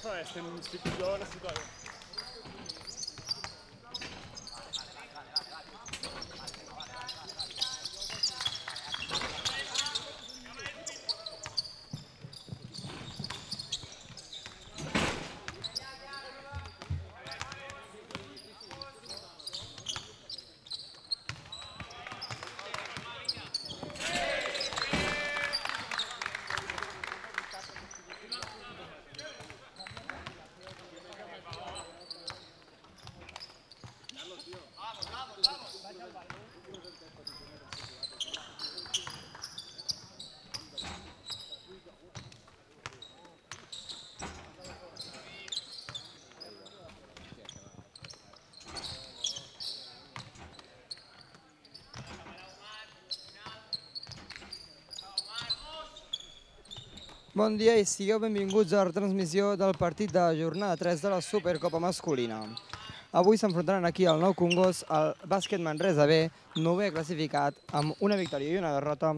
Estem un tipus jo necessito aigua. Bon dia i sigueu benvinguts a la retransmissió del partit de la jornada 3 de la Supercopa masculina. Avui s'enfrontaran aquí al Nou Congost el bàsquet Manresa B, 9è classificat amb una victòria i una derrota,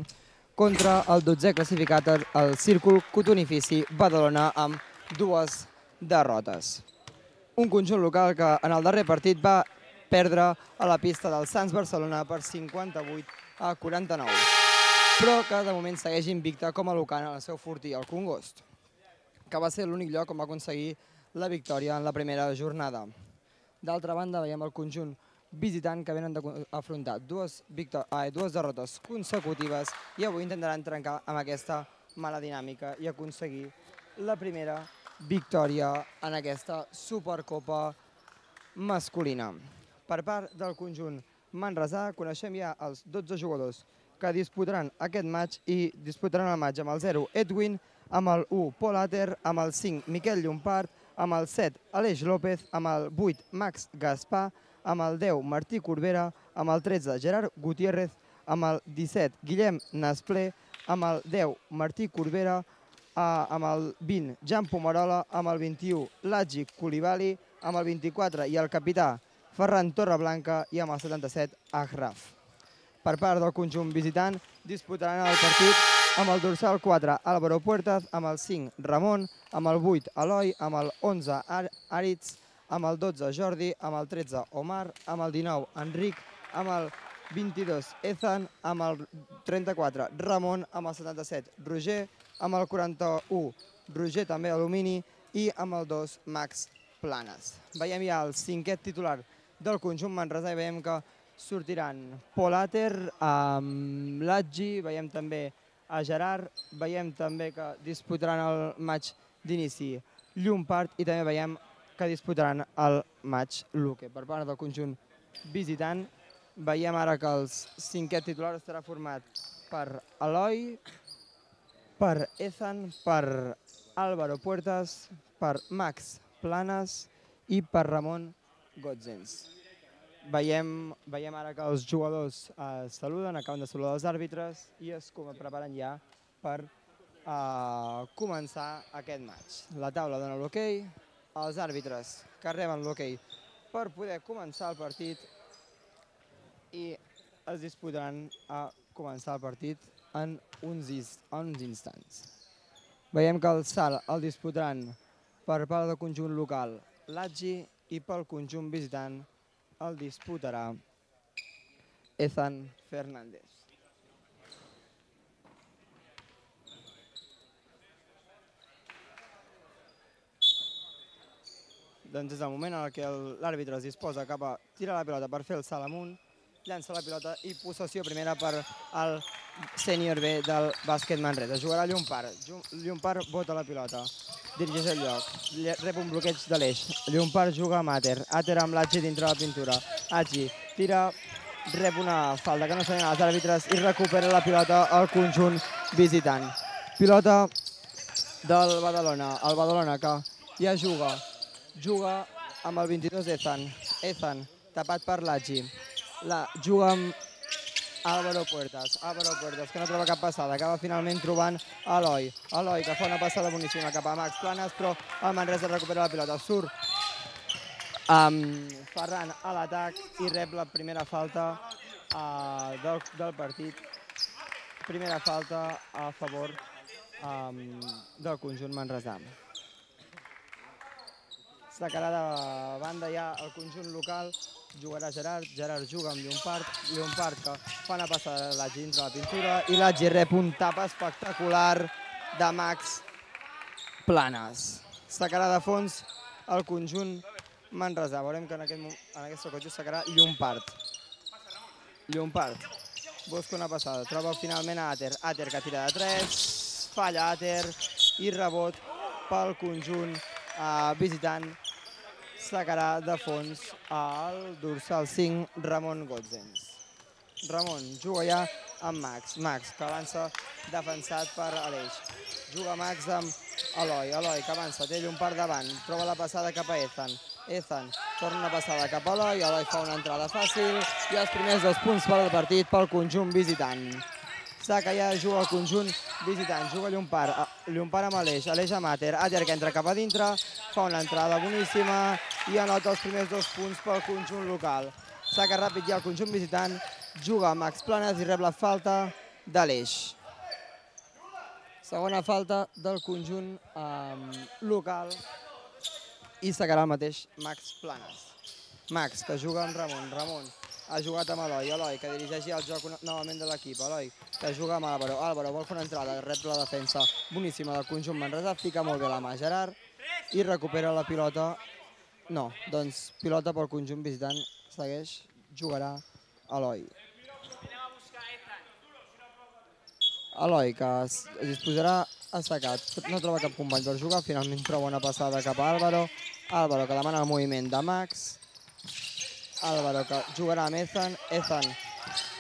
contra el 12è classificat el Círcul Cotonifici Badalona amb 2 derrotes. Un conjunt local que en el darrer partit va perdre a la pista del Sants Barcelona per 58-49. Però que de moment segueix invicta com a local en el seu fortí, el Congost, que va ser l'únic lloc on va aconseguir la victòria en la primera jornada. D'altra banda, veiem el conjunt visitant que venen d'afrontar dues derrotes consecutives i avui intentaran trencar amb aquesta mala dinàmica i aconseguir la primera victòria en aquesta Supercopa masculina. Per part del conjunt manresà coneixem ja els 12 jugadors que disputaran aquest match i disputaran el match amb el 0 Edwin, amb el 1 Pol Ater, amb el 5 Miquel Llompart, amb el 7 Aleix López, amb el 8 Max Gaspar, amb el 10 Martí Corbera, amb el 13 Gerard Gutiérrez, amb el 17 Guillem Nasplé, amb el 10 Martí Corbera, amb el 20 Jan Pomarola, amb el 21 Lagi Coulibaly, amb el 24 i el capità Ferran Torreblanca i amb el 77 Achraf. Per part del conjunt visitant disputaran el partit amb el dorsal 4 Álvaro Puertas, amb el 5 Ramon, amb el 8 Eloi, amb el 11 Aritz, amb el 12 Jordi, amb el 13 Omar, amb el 19 Enric, amb el 22 Ethan, amb el 34 Ramon, amb el 77 Roger, amb el 41 Roger també Alumini i amb el 2 Max Planes. Veiem ja el 5è titular del conjunt manresà i veiem que sortiran Pol Ater, Lagi, veiem també a Gerard, veiem també que disputaran el match d'inici Llompart i també veiem que disputaran el match Luque. Per part del conjunt visitant veiem ara que el 5è titular estarà format per Eloi, per Ethan, per Álvaro Puertas, per Max Planes i per Ramon Gotzens. Veiem ara que els jugadors saluden, acaben de saludar els àrbitres i es preparen ja per començar aquest match. La taula dona l'hoquei, els àrbitres que reben l'hoquei per poder començar el partit i es disputaran a començar el partit en uns instants. Veiem que el salt el disputaran per part del conjunt local Lagi i pel conjunt visitant el disputarà Ethan Fernández. Doncs és el moment en què l'àrbitre es disposa cap a tirar la pilota per fer el salt amunt, llança la pilota i possessió primera per al sènior B del bàsquet Manresa. Jugarà Llompart. Llompart bota la pilota, dirigeix el lloc, rep un bloqueig de l'eix. Llompart juga amb Ater. Ater amb l'Agi dintre la pintura. Agi tira, rep una falta que no sabien els àrbitres i recupera la pilota al conjunt visitant. Pilota del Badalona. El Badalona que ja juga amb el 22 Ethan. Ethan tapat per l'Agi. Juga amb Álvaro Puertas, que no troba cap passada, acaba finalment trobant Eloi. Eloi, que fa una passada boníssima cap a Max Planes, però el Manresa recupera la pilota. Surt Ferran a l'atac i rep la primera falta del partit. Primera falta a favor del conjunt manresà. Sacarà de banda ja el conjunt local, jugarà Gerard, Gerard juga amb Llompart, Llompart que fa una passada de Lagi dins de la pintura i Lagi rep un tap espectacular de Max Planes. Sacarà de fons el conjunt manresà. Veurem que en aquesta ocasió sacarà Llompart. Llompart busca una passada, troba finalment a Ater. Ater que tira de 3, falla Ater i rebot pel conjunt visitant. Sacarà de fons el dorsal 5, Ramon Gotzens. Ramon juga ja amb Max. Max que avança defensat per Aleix. Juga Max amb Eloi. Eloi que avança, té Llompart davant. Troba la passada cap a Ethan. Ethan torna una passada cap a Eloi. Eloi fa una entrada fàcil i els primers 2 punts per al partit pel conjunt visitant. Saca ja juga el conjunt visitant, juga Llompart, Llompart amb Aleix, Aleix amb Ater, Ater que entra cap a dintre, fa una entrada boníssima i anota els primers 2 punts pel conjunt local. Saca ràpid ja el conjunt visitant, juga Max Planes i rep la falta d'Aleix. Segona falta del conjunt local i sacarà el mateix Max Planes. Max que juga amb Ramon, Ramon ha jugat amb Eloi, Eloi que dirigeix el joc novament de l'equip, Eloi que juga amb Álvaro, Álvaro vol fer una entrada, rep la defensa boníssima del conjunt manresà, fica molt bé la mà Gerard i recupera la pilota, no, doncs pilota pel conjunt visitant, segueix, jugarà Eloi. Eloi que es disposarà a sacar, no troba cap company per jugar, finalment troba una passada cap a Álvaro, Álvaro que demana el moviment de Max, Álvaro que jugarà amb Ethan, Ethan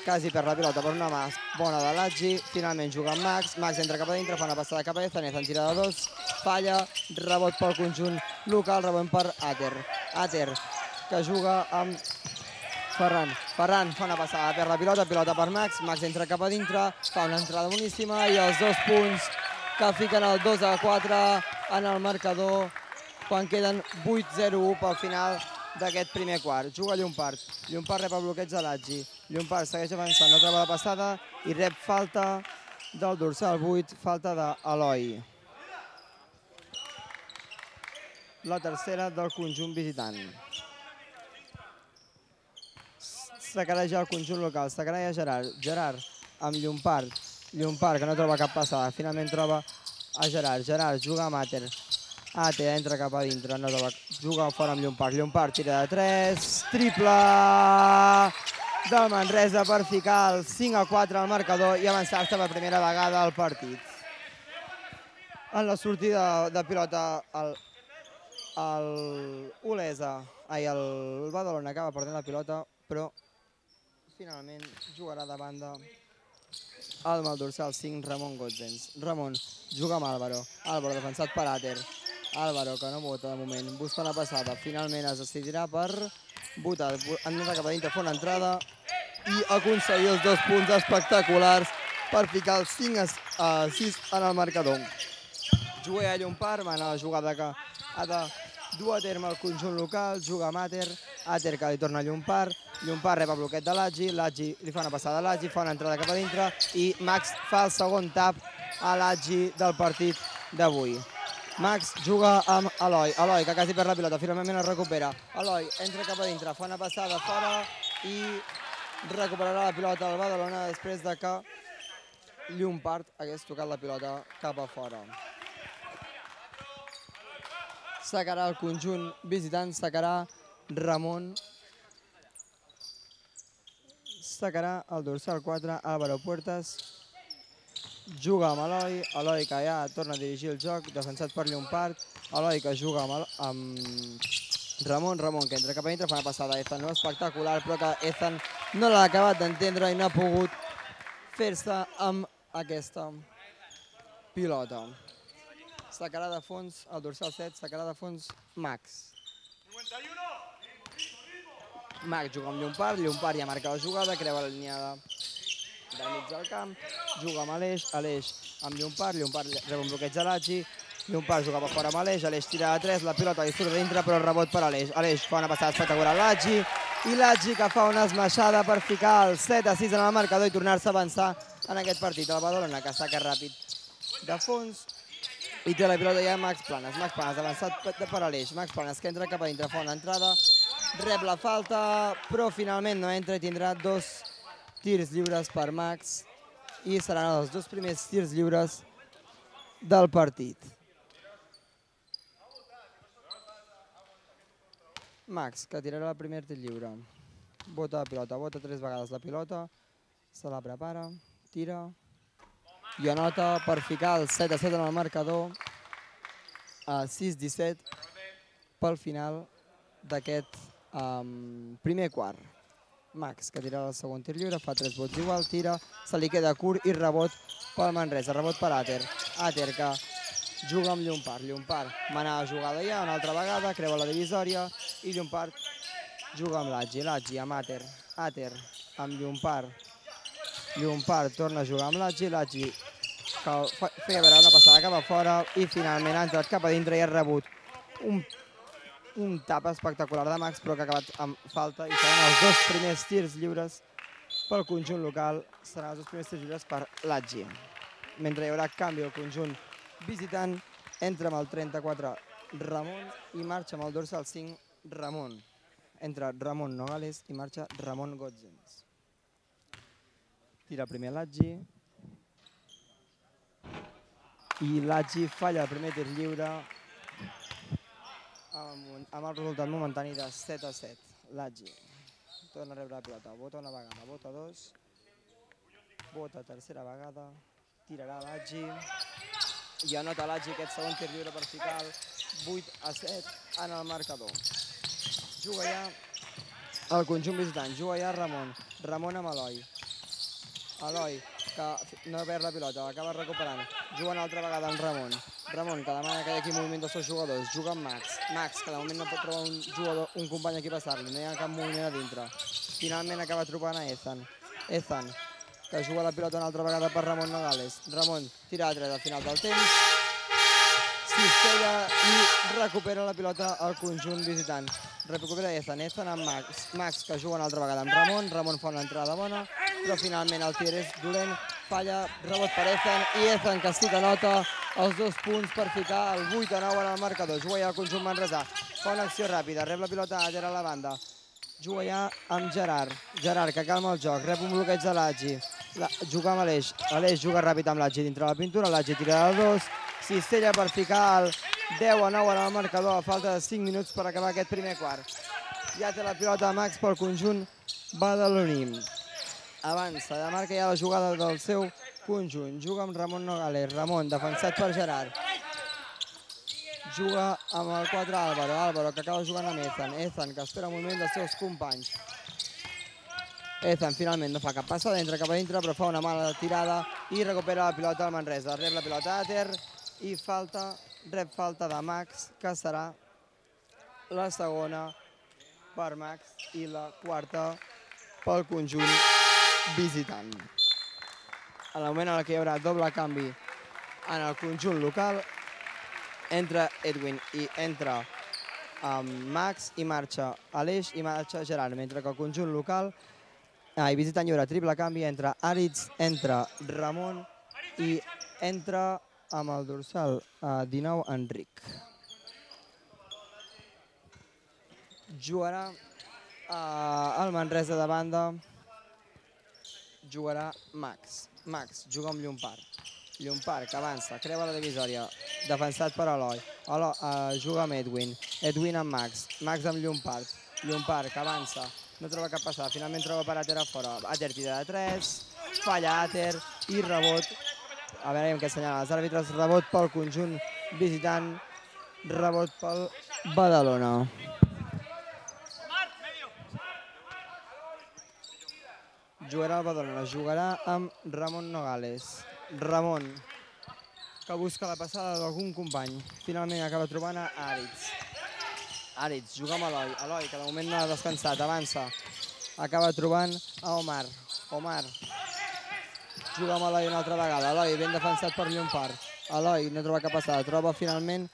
quasi perd la pilota per una mà bona de Lagi, finalment juga amb Max, Max entra cap a dintre, fa una passada cap a Ethan, Ethan tira de 2, falla, rebot pel conjunt local, rebot per Ater, Ater que juga amb Ferran, Ferran fa una passada, perd la pilota, pilota per Max, Max entra cap a dintre, fa una entrada boníssima i els 2 punts que fiquen el 2-4 en el marcador quan queden 8-0 pel final d'aquest primer quart. Juga Llompart, Llompart rep el bloqueig de Lagi, Llompart segueix avançant, no troba la passada i rep falta del dorsal 8, falta d'Eloi. La tercera del conjunt visitant. Sacarà ja el conjunt local, sacarà ja Gerard, Gerard amb Llompart, Llompart que no troba cap passada, finalment troba a Gerard, Gerard juga amb Ater, Ater entra cap a dintre, no troba, juga fora amb Llompart, Llompart tira de 3, triple del Manresa per ficar el 5-4 al marcador i avançar-se per primera vegada al partit. En la sortida de pilota el Badalona acaba perdent la pilota, però finalment jugarà de banda amb el dorsal 5, Ramon Gotzens. Ramon juga amb Álvaro, Álvaro defensat per Ater, Álvaro que no vota de moment, busca una passada, finalment es decidirà per votar, entra cap a dintre, fa una entrada i aconseguir els 2 punts espectaculars per ficar el 5-6 en el marcador. Juga a Llompart, va anar la jugada que ha de dur a terme el conjunt local, juga amb Ater, Ater que li torna a Llompart, Llompart rep el bloqueig de Lagi, Lagi li fa una passada a Lagi, fa una entrada cap a dintre i Max fa el segon tap a Lagi del partit d'avui. Max juga amb Eloi, Eloi que quasi perd la pilota, finalment es recupera, Eloi entra cap a dintre, fa una passada fora i recuperarà la pilota al Badalona després de que Llompart hagués tocat la pilota cap a fora. Sacarà el conjunt visitant, sacarà Ramon, sacarà el dorsal 4, Álvaro Puertas, juga amb Eloi, Eloi que ja torna a dirigir el joc, defensat per Llompart, Eloi que juga amb Ramon, Ramon que entra cap a dintre, fa una passada a Ethan, no espectacular, però que Ethan no l'ha acabat d'entendre i no ha pogut fer-se amb aquesta pilota. Sacarà de fons el dorsal 7, sacarà de fons Max. Max juga amb Llompart, Llompart ja marca la jugada, creua la línia del mig del camp, juga amb Aleix, Aleix amb Llompart, Llompart rep un bloqueig de Lagi, Llompart juga per fora amb Aleix, Aleix tira de 3, la pilota li surt de dintre però el rebot per Aleix, Aleix fa una passada espectacular a Lagi i Lagi que fa una esmaixada per ficar el 7-6 en el marcador i tornar-se a avançar en aquest partit. El Badalona que saca ràpid de fons I té la pilota ja Max Planes avançat per Aleix, Max Planes que entra cap a dintre, fa una entrada, rep la falta, però finalment no entra i tindrà 2 tirs lliures per Max i seran els 2 primers tirs lliures del partit. Max, que tirarà el primer tir lliure. Bota la pilota, bota 3 vegades la pilota, se la prepara, tira i anota per ficar el 7-7 en el marcador, a 6-17 pel final d'aquest primer quart. Max, que tirarà el segon tir lliure, fa 3 vots igual, tira, se li queda curt i rebot pel Manresa, rebot per Ater. Ater que juga amb Llompart. Llompart manava jugada ja una altra vegada, creua la divisòria i Llompart juga amb Lagi. Lagi amb Ater. Ater amb Llompart. Llompart torna a jugar amb Lagi. Lagi que feia veure una passada cap a fora i finalment ha entrat cap a dintre i ha rebut un tap espectacular de Max, però que ha acabat amb falta i seran els 2 primers tirs lliures pel conjunt local. Seran els 2 primers tirs lliures per Lagi. Mentre hi haurà canvi al conjunt visitant, entra amb el 34 Ramon i marxa amb el dorsal 5 Ramon. Entra Ramon Nogales i marxa Ramon Gotzens. Tira primer Lagi. I Lagi falla el primer tir lliure amb el resultat momentani de 7-7. Lagi torna a rebre la pilota, bota una vegada, bota 2, bota tercera vegada, tirarà Lagi i anota Lagi aquest segon tir lliure per ficar el 8-7 en el marcador. Juga ja el conjunt visitant, juga ja Ramon. Ramon amb Eloi. Eloi, que no perd la pilota, l'acaba recuperant. Juga una altra vegada amb Ramon. Ramon, que demana que hi hagi moviment dels seus jugadors. Juga amb Max. Max, que de moment no pot trobar un company aquí a passar-li. No hi ha cap moviment a dintre. Finalment acaba trobant a Ethan. Ethan, que juga la pilota una altra vegada per Ramon Nogales. Ramon tira a 3 al final del temps. Cistella i recupera la pilota al conjunt visitant. Recupera Ethan, Ethan amb Max. Max, que juga una altra vegada amb Ramon. Ramon fa una entrada bona, però finalment el tir és dolent. Falla, rebot per Ethan i Ethan que sí que nota els 2 punts per ficar el 8-9 en el marcador. Juga ja el conjunt manresà. Fa una acció ràpida, rep la pilota a Ater a la banda. Juga ja amb Gerard. Gerard que calma el joc, rep un bloqueig de Lagi. Juga amb Aleix. Aleix juga ràpid amb Lagi dintre la pintura. Lagi tira de 2. Cistella per ficar el 10-9 en el marcador a falta de 5 minuts per acabar aquest primer quart. Ja té la pilota Max pel conjunt badaloní. Avança, de marca ja la jugada del seu conjunt. Juga amb Ramon Nogales. Ramon, defensat per Gerard. Juga amb el 4 Álvaro. Álvaro que acaba jugant amb Ethan. Ethan que espera un moment dels seus companys. Ethan finalment no fa cap passada, entra cap a dintre, però fa una mala tirada i recupera la pilota al Manresa. Rep la pilota Ater i rep falta de Max, que serà la segona per Max i la quarta pel conjunt visitant. En el moment en què hi haurà doble canvi en el conjunt local, entra Edwin i entra Max i marxa Aleix i marxa Gerard, mentre que el conjunt local i visitant hi haurà triple canvi, entra Aritz, entra Ramon i entra amb el dorsal 19 Enric. Jugarà el Manresa de banda, jugarà Max. Max juga amb Llompart. Llompart que avança, creua la divisòria, defensat per Eloi. Juga amb Edwin. Edwin amb Max. Max amb Llompart. Llompart que avança, no troba cap passada, finalment troba per Ater a fora. Ater tira de 3, falla Ater i rebot. A veure què assenyalen els àrbitres. Rebot pel conjunt visitant, rebot pel Badalona. Jugarà el Badalona, jugarà amb Ramon Nogales. Ramon, que busca la passada d'algun company. Finalment acaba trobant a Aritz. Aritz juga amb Eloi. Eloi, que de moment no ha descansat, avança. Acaba trobant a Omar. Omar juga amb Eloi una altra vegada. Eloi ben defensat per Llompart. Eloi no troba cap passada, troba finalment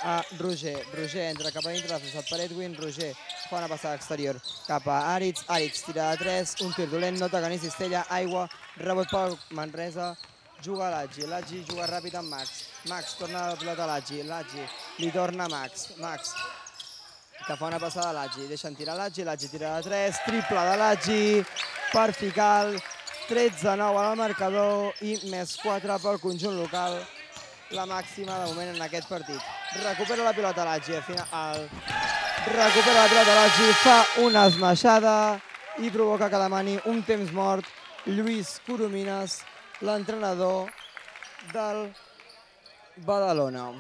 a Roger. Roger entra cap a dintre, defensat per Edwin. Roger fa una passada exterior cap a Aritz. Aritz tira de 3, un tir dolent, no toca ni cistella, aigua, rebot pel Manresa. juga Lagi, Lagi juga ràpid amb Max, Max torna la pilota a Lagi, Lagi li torna a Max, Max que fa una passada a Lagi, deixen tirar Lagi, Lagi tira de 3, triple de Lagi per ficar el 13-9 al marcador i més 4 pel conjunt local, la màxima de moment en aquest partit. Recupera la pilota Lagi, recupera la pilota Lagi, fa una esmaixada i provoca que demani un temps mort Lluís Coromines, l'entrenador del Badalona.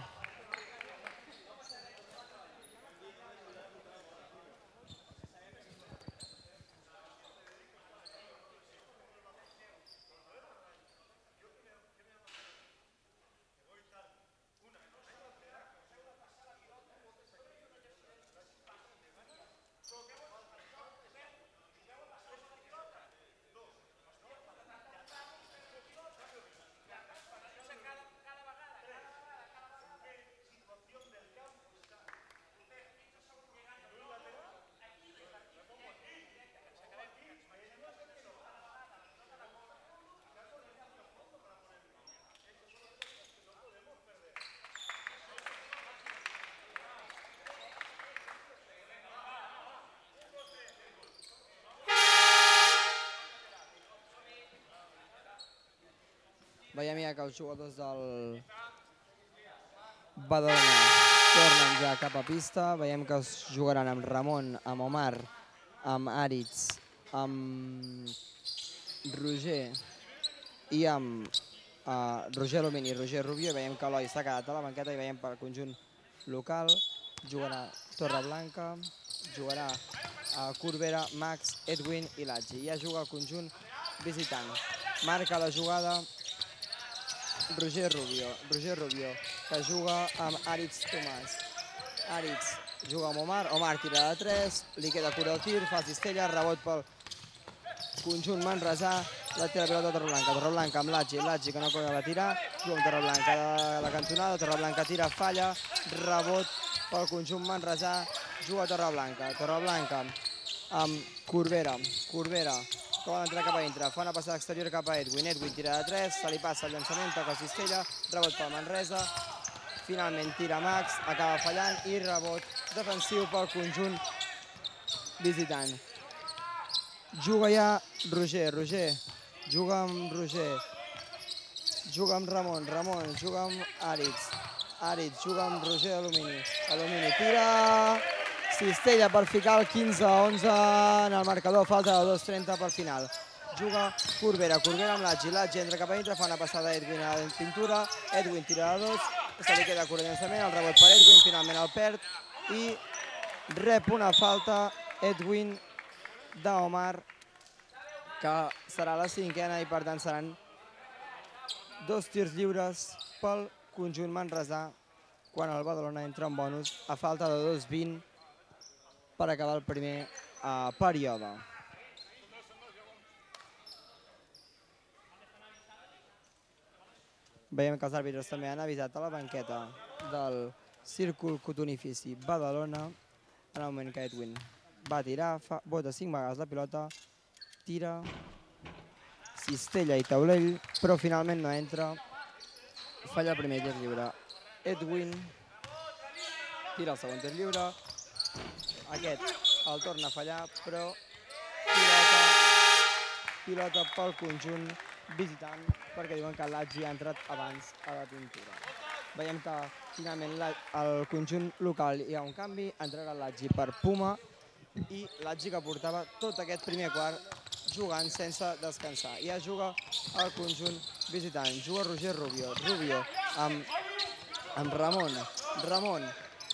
Veiem ja que els jugadors del Badalona tornen ja cap a pista. Veiem que es jugaran amb Ramon, amb Omar, amb Aritz, amb Roger i amb Roger Alumini i Roger Rubio. Veiem que Eloi s'ha quedat a la banqueta i veiem pel conjunt local. Jugarà Torreblanca, jugarà Corbera, Max, Edwin i Lagi. Ja juga el conjunt visitant. Marca la jugada Roger Rubio, que juga amb Aritz Tomàs. Aritz juga amb Omar, Omar tira de 3, li queda cura el tir, fa cistella, rebot pel conjunt manresà, la tira pilota Torreblanca, Torreblanca amb Lagi, Lagi que no acaba de tirar, juga amb Torreblanca de la cantonada, Torreblanca tira, falla, rebot pel conjunt manresà, juga Torreblanca, Torreblanca amb Corbera, Corbera que vol entrar cap a dintre, fa una passada exterior cap a Edwin, Edwin tira de 3, se li passa el llançament, toca cistella, rebot pel Manresa, finalment tira Max, acaba fallant i rebot defensiu pel conjunt visitant. Juga ja Roger, Roger, juga amb Roger, juga amb Ramon, Ramon, juga amb Aritz, Aritz, juga amb Roger Alumini, Alumini tira... Cistella per ficar el 15-11 en el marcador, falta de 2:30 per final. Juga Corbera, Corbera amb Lagi, Lagi entra cap a dintre, fa una passada a Edwin a la pintura, Edwin tira de 2, se li queda cura llançament, el rebot per Edwin, finalment el perd i rep una falta Edwin d'Omar, que serà la 5ª i per tant seran 2 tirs lliures pel conjunt manresà quan el Badalona entra en bonus a falta de 2:20 per acabar el primer període. Veiem que els àrbitres també han avisat a la banqueta del Círcul Cotonifici Badalona en el moment que Edwin va tirar, bota 5 vegades la pilota, tira, cistella i taulell, però finalment no entra, falla el primer tir lliure. Edwin tira el segon tir lliure, aquest el torna a fallar, però pilota pel conjunt visitant, perquè diuen que Lagi ha entrat abans a la pintura. Veiem que finalment al conjunt local hi ha un canvi, entrarà Lagi per Puma i Lagi que portava tot aquest primer quart jugant sense descansar. Ja juga el conjunt visitant, juga Roger Rubio, Rubio amb Ramon, Ramon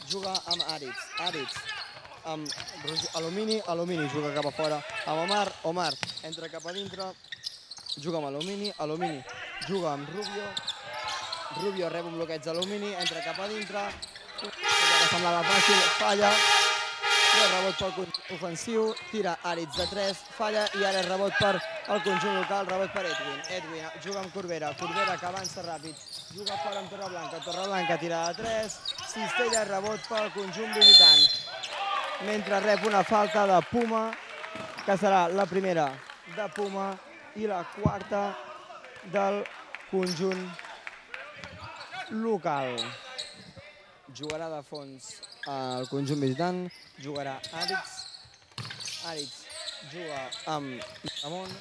juga amb Aritz, Aritz amb Alumini, Alumini juga cap a fora amb Omar, Omar entra cap a dintre, juga amb Alumini, Alumini juga amb Rubio, Rubio rep un bloqueig d'Alumini, entra cap a dintre, que semblava fàcil, falla, rebot pel conjunt ofensiu, tira Aritz de 3, falla i ara rebot per el conjunt local, rebot per Edwin, Edwin juga amb Corbera, Corbera que avança ràpid, juga fora amb Torreblanca, Torreblanca tira de 3, cistella, rebot pel conjunt visitant, mentre rep una falta de Puma, que serà la primera de Puma i la quarta del conjunt local. Jugarà de fons el conjunt visitant, jugarà Aritz. Aritz juga amb Ramon.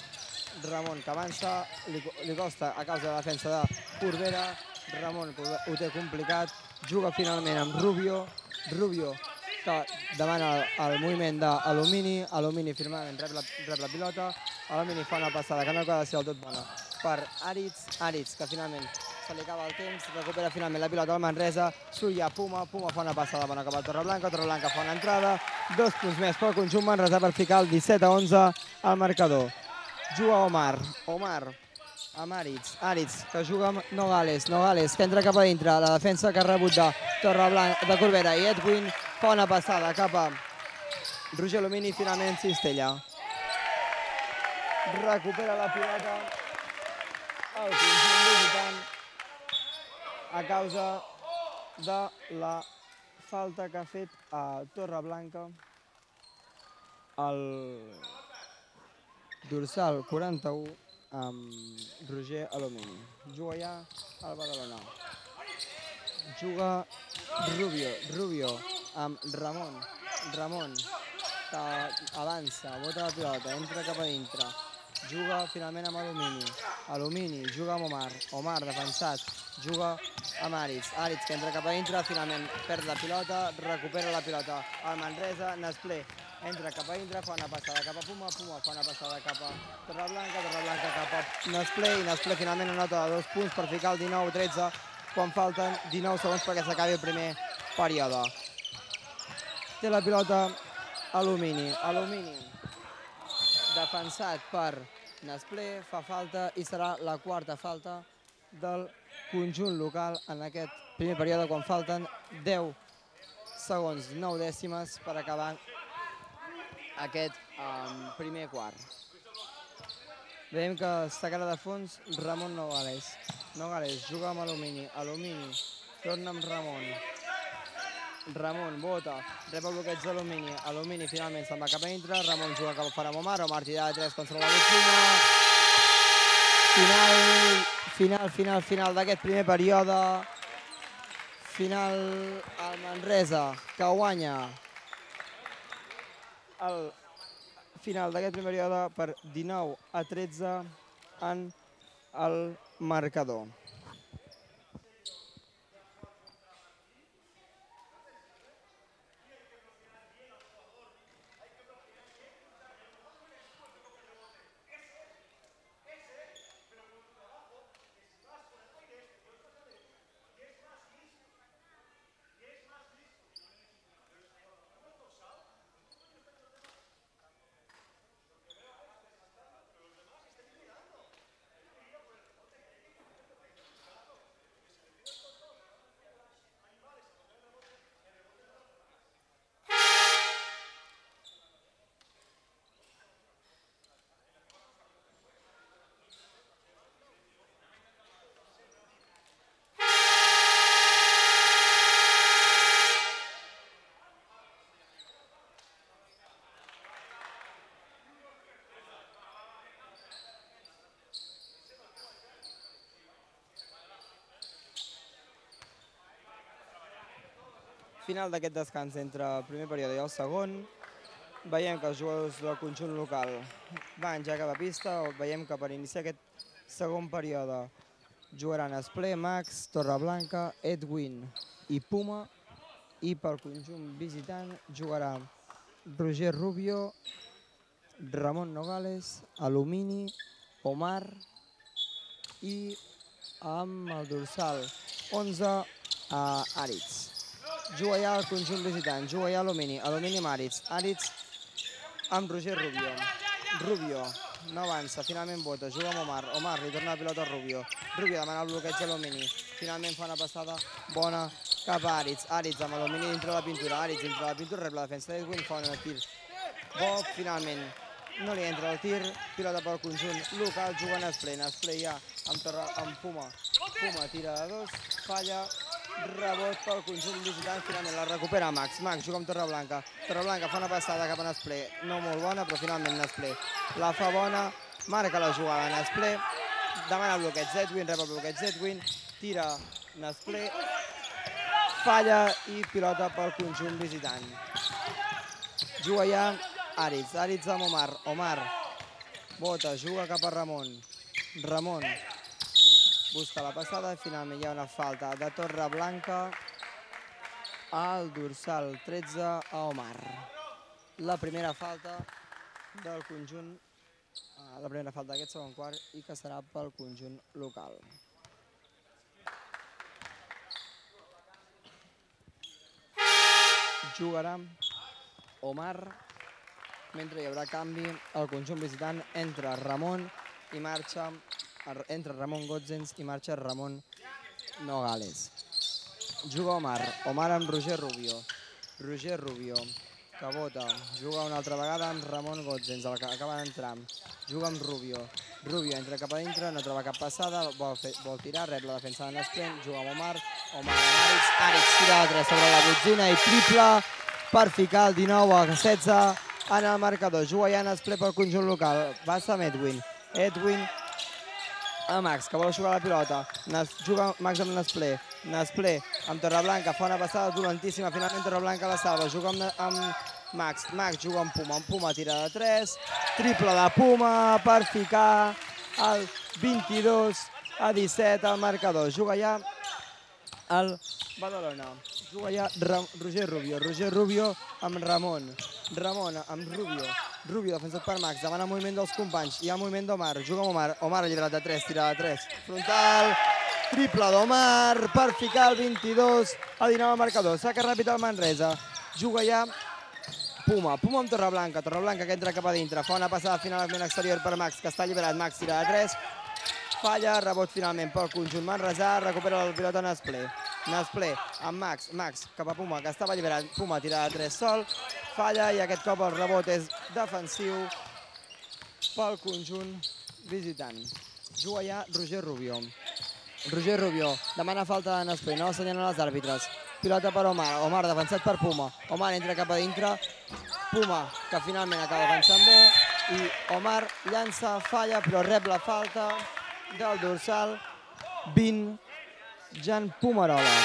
Ramon que avança, li costa a causa de la defensa de Corbera. Ramon ho té complicat, juga finalment amb Rubio. Rubio que demana el moviment d'Alumini. Alumini finalment rep la pilota. Alumini fa una passada que no acaba de ser del tot bona per Aritz. Aritz que finalment se li acaba el temps, recupera finalment la pilota al Manresa. Surt ja Puma, Puma fa una passada bona cap al Torreblanca. Torreblanca fa una entrada. 2 punts més pel conjunt Manresa per ficar el 17-11 al marcador. Juga Omar. Omar amb Aritz. Aritz que juga amb Nogales. Nogales que entra cap a dintre. La defensa que ha rebut de Torreblanca, de Corbera i Edwin fa una passada cap a Roger Alumini. Finalment Cistella recupera la pilota el conjunt visitant a causa de la falta que ha fet a Torreblanca el dorsal 41 amb Roger Alumini. Juga ja el Badalona. Juga Rubio. Rubio amb Ramon. Ramon que avança, bota la pilota, entra cap a dintre. Juga finalment amb Alumini. Alumini juga amb Omar. Omar defensat. Juga amb Aritz. Aritz que entra cap a dintre, finalment perd la pilota, recupera la pilota al Manresa. Nesplé entra cap a dintre, fa una passada cap a Puma. Puma fa una passada cap a Torreblanca. Torreblanca cap a Nesplé i Nesplé finalment anota 2 punts per ficar el 19-13 quan falten 19 segons perquè s'acabi el primer període. Té la pilota Alumini. Alumini defensat per Nesplé, fa falta i serà la quarta falta del conjunt local en aquest primer període quan falten 10 segons, 9 dècimes per acabar aquest primer quart. Veiem que sacarà de fons Ramon Nogales. Nogales juga amb Alumini. Alumini torna amb Ramon. Ramon bota, rep el bloqueig d'Alumini. Alumini finalment se'n va cap a dintre. Ramon juga cap a fora amb Omar. Omar tirada de 3 contra la botxina. Final d'aquest primer període. Final al Manresa, que guanya el final d'aquest primer període per 19-13 en el marcador. Final d'aquest descans entre el primer període i el segon. Veiem que els jugadors del conjunt local van ja cap a pista. Veiem que per iniciar aquest segon període jugaran Nesplé, Max, Torreblanca, Edwin i Puma. I pel conjunt visitant jugarà Roger Rubio, Ramon Nogales, Alumini, Omar i amb el dorsal 11 Aritz. Juga ja el conjunt visitant, juga ja Alumini, Alumini amb Aritz, Aritz amb Roger Rubio. Rubio no avança, finalment vota, juga amb Omar, Omar li torna la pilota a Rubio. Rubio demana el bloqueig a Alumini, finalment fa una passada bona cap a Aritz. Aritz amb Alumini dintre la pintura, Aritz dintre la pintura, rep la defensa d'Edwin, fa un tir bo, finalment no li entra el tir, pilota pel conjunt local, juga Nesplé, Nesplé ja amb Puma. Puma tira de 2, falla, rebot pel conjunt visitant, finalment la recupera Max. Max juga amb Torreblanca. Torreblanca fa una passada cap a Nesplé, no molt bona, però finalment Nesplé la fa bona, marca la jugada Nesplé, demana bloqueig Zedwin, rep el bloqueig Zedwin, tira Nesplé, falla i pilota pel conjunt visitant. Juga ja Aritz, Aritz amb Omar, Omar bota, juga cap a Ramon, Ramon busca la passada i finalment hi ha una falta de Torreblanca al dorsal 13 a Omar. La primera falta del conjunt, la primera falta d'aquest segon quart i que serà pel conjunt local. Jugarà Omar, mentre hi haurà canvi al conjunt visitant entre Ramon i marxa, entre Ramon Gotzens i marxa Ramon Nogales. Juga Omar, Omar amb Roger Rubio, Roger Rubio, que vota, juga una altra vegada amb Ramon Gotzens, el que acaba d'entrar, juga amb Rubio, Rubio entra cap a dintre, no troba cap passada, vol tirar, rep la defensa de Nesplé, juga amb Omar, Omar amb Aritz, Aritz tira de 3 sobre la botzina i triple per ficar el 19 a 16 en el marcador. Juga ja Nesplé pel conjunt local, passa amb Edwin, Edwin a Max, que vol jugar la pilota, juga Max amb Nesplé, Nesplé amb Torreblanca, fa una passada dolentíssima, finalment Torreblanca la salva, juga amb Max, Max juga amb Puma tira de 3, triple de Puma per ficar el 22 a 17 al marcador. Juga ja el Badalona, juga ja Roger Rubio, Roger Rubio amb Ramon, Ramon amb Rubio, Rubio defensat per Max, demana moviment dels companys, hi ha moviment d'Omar, juga amb Omar, Omar alliberat de 3, tira de 3, frontal, triple d'Omar per ficar el 22 a 19 al marcador. Saca ràpid al Manresa, juga ja Puma amb Torreblanca, Torreblanca que entra cap a dintre, fa una passada finalment exterior per Max, que està alliberat, Max tira de 3, falla, rebot finalment pel conjunt manresà, recupera el pilota Nesplé, Nesplé amb Max, Max cap a Puma, que estava alliberat, Puma tira de 3 sol, falla i aquest cop el rebot és defensiu pel conjunt visitant. Juga ja Roger Rubio. Roger Rubio demana falta de Nesplé, no assenyalen els àrbitres. Pilota per Omar, Omar defensat per Puma. Omar entra cap a dintre, Puma que finalment acaba avançant bé i Omar llança, falla però rep la falta del dorsal 20, Jan Pumarola.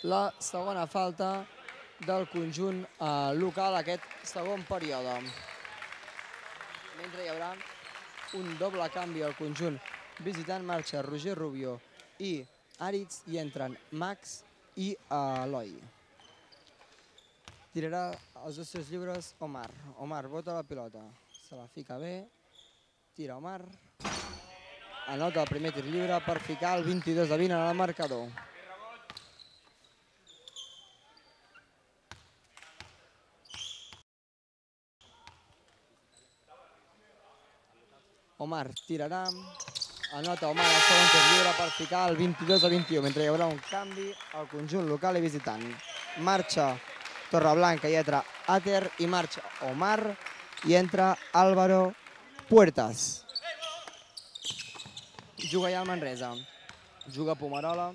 La segona falta del conjunt local aquest segon període. Mentre hi haurà un doble canvi al conjunt visitant, marxa Roger Rubio i Aritz i entren Max i Eloi. Tirarà els dos tirs lliures Omar. Omar bota la pilota, se la fica bé, tira Omar, anota el primer tir lliure per ficar el 22 a 20 en el marcador. Omar tirarà, anota Omar el segon tir lliure per ficar el 22 a 21, mentre hi haurà un canvi al conjunt local i visitant. Marxa Torreblanca i entra Ater i marxa Omar i entra Álvaro Puertas. Juga ja el Manresa, juga Pumarola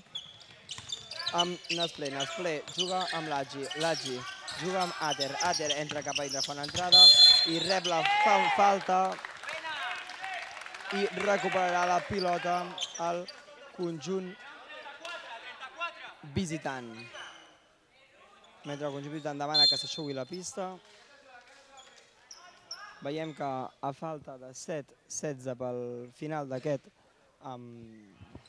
amb Nesplé, Nesplé juga amb Lagi, Lagi juga amb Ater, Ater entra cap a dintre, fa una entrada i rep la falta i recuperarà la pilota al conjunt visitant. Mentre el conjunt visitant demana que s'aixugui la pista, veiem que a falta de 7-16 pel final d'aquest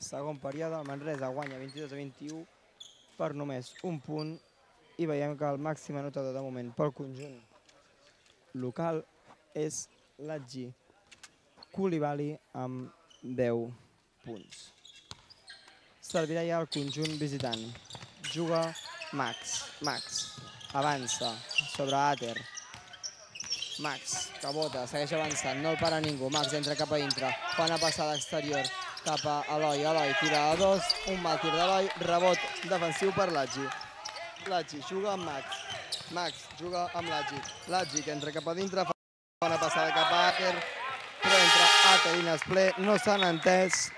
segon període, el Manresa guanya 22 a 21 per només un punt i veiem que el màxim anotador de moment pel conjunt local és Lagi Koulibaly amb 10 punts. Servirà ja el conjunt visitant. Juga Max, Max avança sobre Ater. Max, que bota, segueix avançant, no el para ningú. Max entra cap a dintre, fa una passada exterior cap a Eloi. Eloi tira a 2, un mal tir d'Eloi, rebot defensiu per Lagi. Lagi juga amb Max. Max juga amb Lagi. Lagi que entra cap a dintre, fa una passada cap a Ater, però entre Ater i Nesplé no s'han entès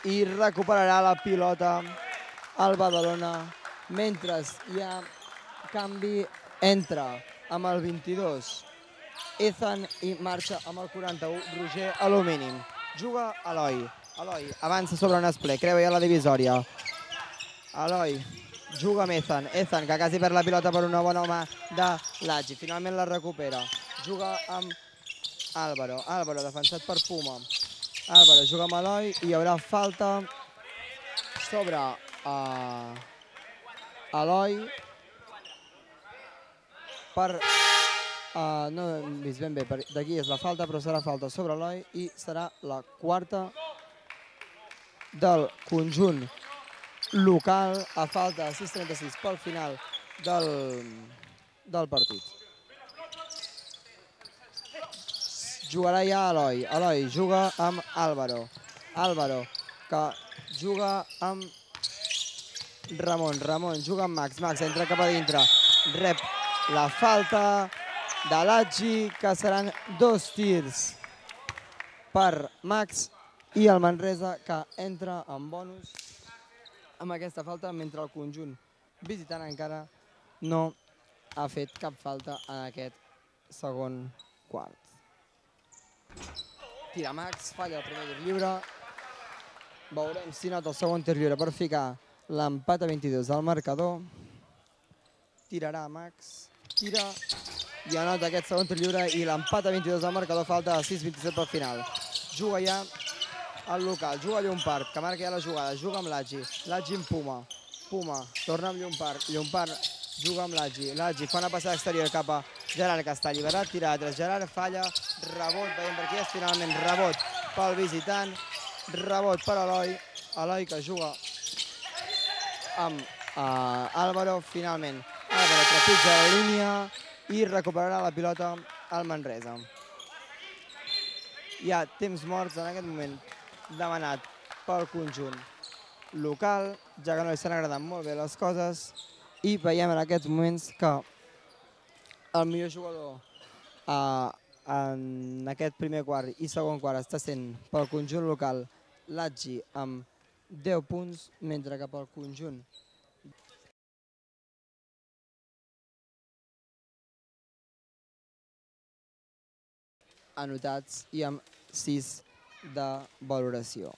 i recuperarà la pilota al Badalona mentre hi ha canvi entre amb el 22 Ethan i marxa amb el 41, Roger a lo mínim. Juga Eloi. Eloi avança sobre un esplè, creua ja la divisòria. Eloi juga amb Ethan. Ethan, que quasi perd la pilota per una bona mà de Lagi. Finalment la recupera. Juga amb Álvaro. Álvaro, defensat per Puma. Álvaro juga amb Eloi i hi haurà falta sobre Eloi per... no hem vist ben bé, d'aquí és la falta, però serà falta sobre Eloi i serà la quarta del conjunt local a falta de 6:36 pel final del partit. Jugarà ja Eloi. Eloi juga amb Álvaro. Álvaro, que juga amb Ramon. Ramon juga amb Max. Max entra cap a dintre. Rep la falta de Lagi, que seran 2 tirs per Max i el Manresa, que entra en bonus amb aquesta falta, mentre el conjunt visitant encara no ha fet cap falta en aquest segon quart. Tira Max, falla el primer tir lliure. Veurem si nota el segon tir lliure per ficar l'empat a 22 al marcador. Tirarà Max, tira i anota aquest segon tir lliure i l'empat a 22 al marcador, falta de 6:27 pel final. Juga ja el local, juga Llompart, que marca ja la jugada, juga amb Lagi. Lagi amb Puma. Puma torna amb Llompart. Llompart juga amb Lagi. Lagi fa una passada exterior cap a Gerard, que està alliberat, tira de 3. Gerard falla, rebot, veiem per aquí és finalment rebot pel visitant, rebot per Eloi. Eloi, que juga amb Álvaro, finalment Álvaro trepitja la línia i recuperarà la pilota al Manresa. Hi ha temps morts en aquest moment demanat pel conjunt local, ja que no li estan agradant molt bé les coses, i veiem en aquests moments que el millor jugador en aquest primer quart i segon quart està sent pel conjunt local Lagi amb 10 punts, mentre que pel conjunt anotats i amb 6 de valoració.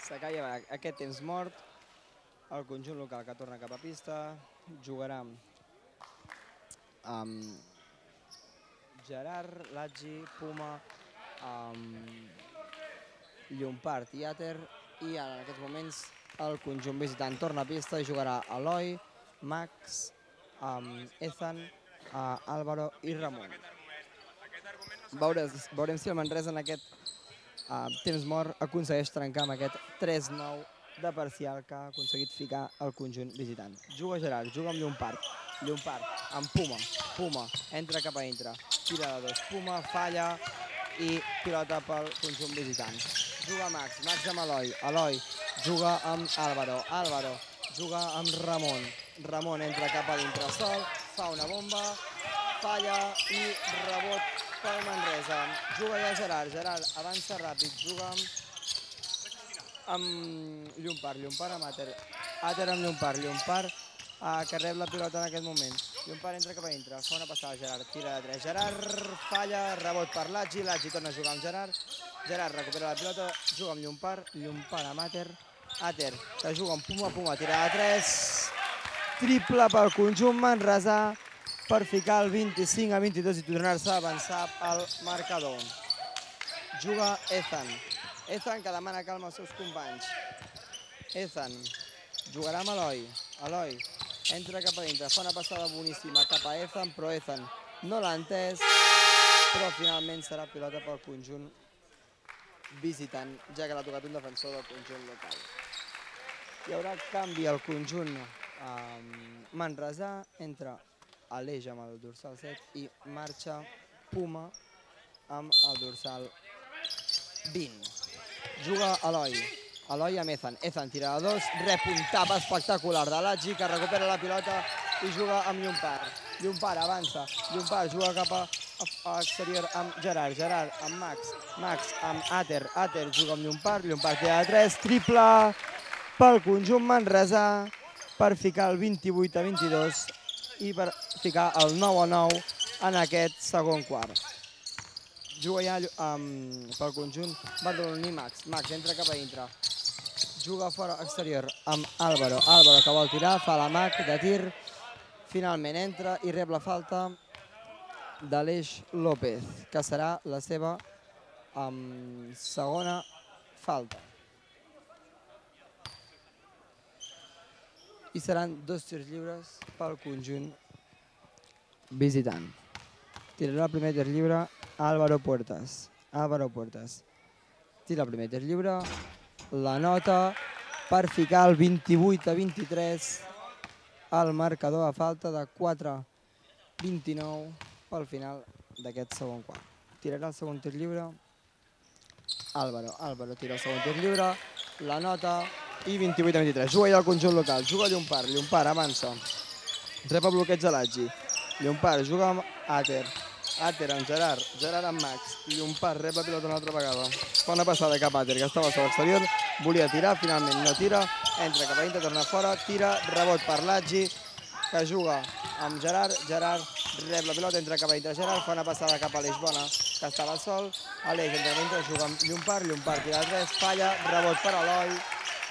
S'acaba aquest temps mort, el conjunt local que torna cap a pista, jugarà amb Gerard, Lagi, Puma, Llompart i Ater, i ara en aquests moments el conjunt visitant torna a pista i jugarà Eloi, Max, Ethan, Álvaro i Ramon. Veurem si el Manresa en aquest temps mort aconsegueix trencar amb aquest 3-9 de parcial que ha aconseguit ficar el conjunt visitant. Juga Gerard, juga amb Llompart. Llompart amb Puma. Puma entra cap a dintre. Tira de 2. Puma falla i pilota pel conjunt visitant. Juga Max. Max amb Eloi. Eloi juga amb Álvaro. Álvaro juga amb Ramon. Ramon entra cap a dintre sol. Fa una bomba. Falla i rebot pel Manresa. Juga ja Gerard. Gerard avança ràpid. Juga amb Llompart. Llompart amb Ater. Ater amb Llompart. Llompart que rep la pilota en aquest moment. Llompart entra cap a dintre. Fa una passada Gerard. Tira de 3. Gerard falla. Rebot per Lagi. Lagi torna a jugar amb Gerard. Gerard recupera la pilota. Juga amb Llompart. Llompart amb Ater. Ater que juga amb Puma. Puma tira de 3. Triple pel conjunt manresà per ficar el 25-22 i tornar-se a avançar al marcador. Juga Ethan. Ethan que demana calma als seus companys. Ethan jugarà amb Eloi. Eloi entra cap a dintre, fa una passada boníssima cap a Ethan, però Ethan no l'ha entès, però finalment serà pilota pel conjunt visitant, ja que l'ha tocat un defensor del conjunt local. Hi haurà canvi al conjunt manresà, entra Aleix amb el dorsal 7 i marxa Puma amb el dorsal 20. Juga Eloi. Eloi amb Ethan. Ethan tira a 2, rep un tap espectacular de Latgi, que recupera la pilota i juga amb Llompart. Llompart avança. Llompart juga cap a exterior amb Gerard. Gerard amb Max. Max amb Ater. Ater juga amb Llompart. Llompart tira de 3. Triple pel conjunt manresà per ficar el 28-22 i per ficar el 9-9 en aquest segon quart. Juga ja pel conjunt badaloní Max. Max entra cap a dintre. Juga fora exterior amb Álvaro. Álvaro que vol tirar, fa la Mac de tir. Finalment entra i rep la falta d'Aleix López, que serà la seva segona falta. I seran 2 tirs lliures pel conjunt visitant. Tirarà el primer tir lliure Álvaro Puertas. Álvaro Puertas tira el primer tir lliure, la nota per ficar el 28-23 al marcador a falta de 4-29 pel final d'aquest segon quart. Tirarà el segon tir lliure Álvaro. Álvaro tira el segon tir lliure, la nota i 28-23. Juga ja el conjunt local, juga Llompart. Llompart avança, rep el bloqueig de Latgi. Llompart juga amb Ater. Ater amb Gerard, Gerard amb Max. Llompart rep la pilota una altra vegada. Fa una passada cap a Ater, que estava a l'exterior. Volia tirar, finalment no tira. Entra cap a dintre, torna fora, tira, rebot per Latgi, que juga amb Gerard. Gerard rep la pilota, entra cap a dintre Gerard. Fa una passada cap a Aleix Bona, que estava sol. Aleix entra cap a dintre, juga amb Llompart. Llompart tira de 3, falla, rebot per Eloi.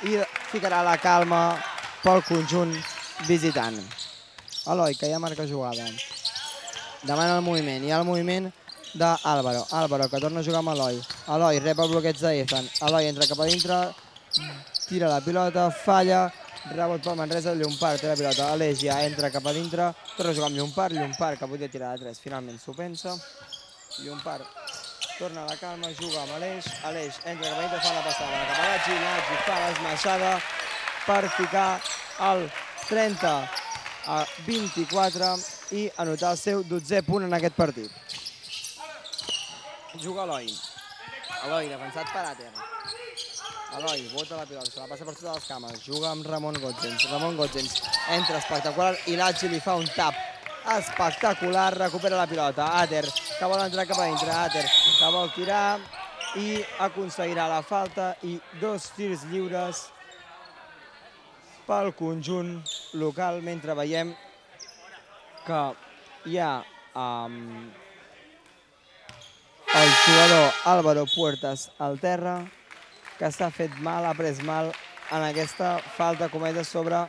I ficarà la calma pel conjunt visitant. Eloi, que ja marca jugada. Demana el moviment, hi ha el moviment d'Álvaro. Álvaro, que torna a jugar amb Eloi. Eloi rep el bloqueig d'Ethan. Eloi entra cap a dintre, tira la pilota, falla, rebot pel Manresa, Llompart té la pilota. Aleix ja entra cap a dintre, torna a jugar amb Llompart. Llompart, que podia tirar de 3, finalment s'ho pensa. Llompart torna a la calma, juga amb Aleix. Aleix entra cap a dintre, fa la passada cap a Latgi. Latgi fa l'esmaixada per ficar el 30-24 i anotar el seu 12è punt en aquest partit. Juga Eloi. Eloi, defensat per Ater. Eloi bota la pilota, se la passa per totes les cames. Juga amb Ramon Gotzens. Ramon Gotzens entra espectacular i Latgi li fa un tap espectacular. Recupera la pilota. Ater, que vol entrar cap a dintre. Ater, que vol tirar i aconseguirà la falta i 2 tirs lliures pel conjunt local, mentre veiem que hi ha el jugador Álvaro Puertas al terra, que s'ha fet mal, ha pres mal en aquesta falta comesa sobre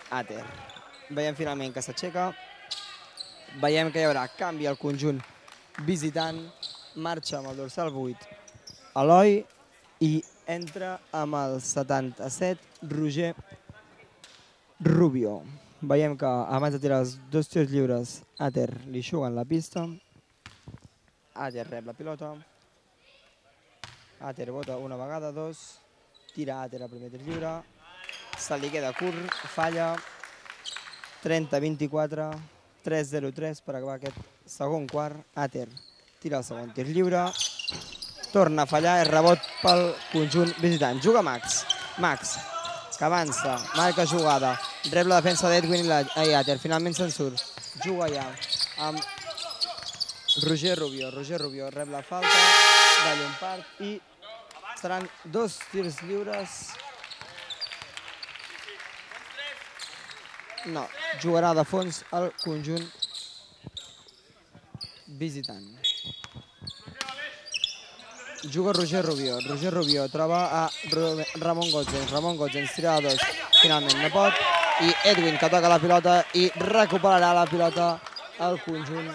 Ater. Veiem finalment que s'aixeca, veiem que hi haurà canvi al conjunt visitant, marxa amb el dorsal 8 Eloi i entra amb el 77 Roger Rubio. Veiem que abans de tirar els 2 tirs lliures, Ater li juga en la pista. Ater rep la pilota. Ater bota una vegada, 2. Tira Ater el primer tir lliure. Se li queda curt, falla. 30-24, 3-0-3 per acabar aquest segon quart. Ater tira el segon tir lliure. Torna a fallar, és rebot pel conjunt visitant. Juga Max. Max, que avança, marca jugada, rep la defensa d'Edwin i Ater, finalment se'n surt. Juga ja amb Roger Rubio. Roger Rubio rep la falta de Llompart i seran 2 tirs lliures. No, jugarà de fons el conjunt visitant. Juga Roger Rubio. Roger Rubio troba a Ramon Gotzens. Ramon Gotzens tira de 2. Finalment no pot. I Edwin, que toca la pilota i recuperarà la pilota al conjunt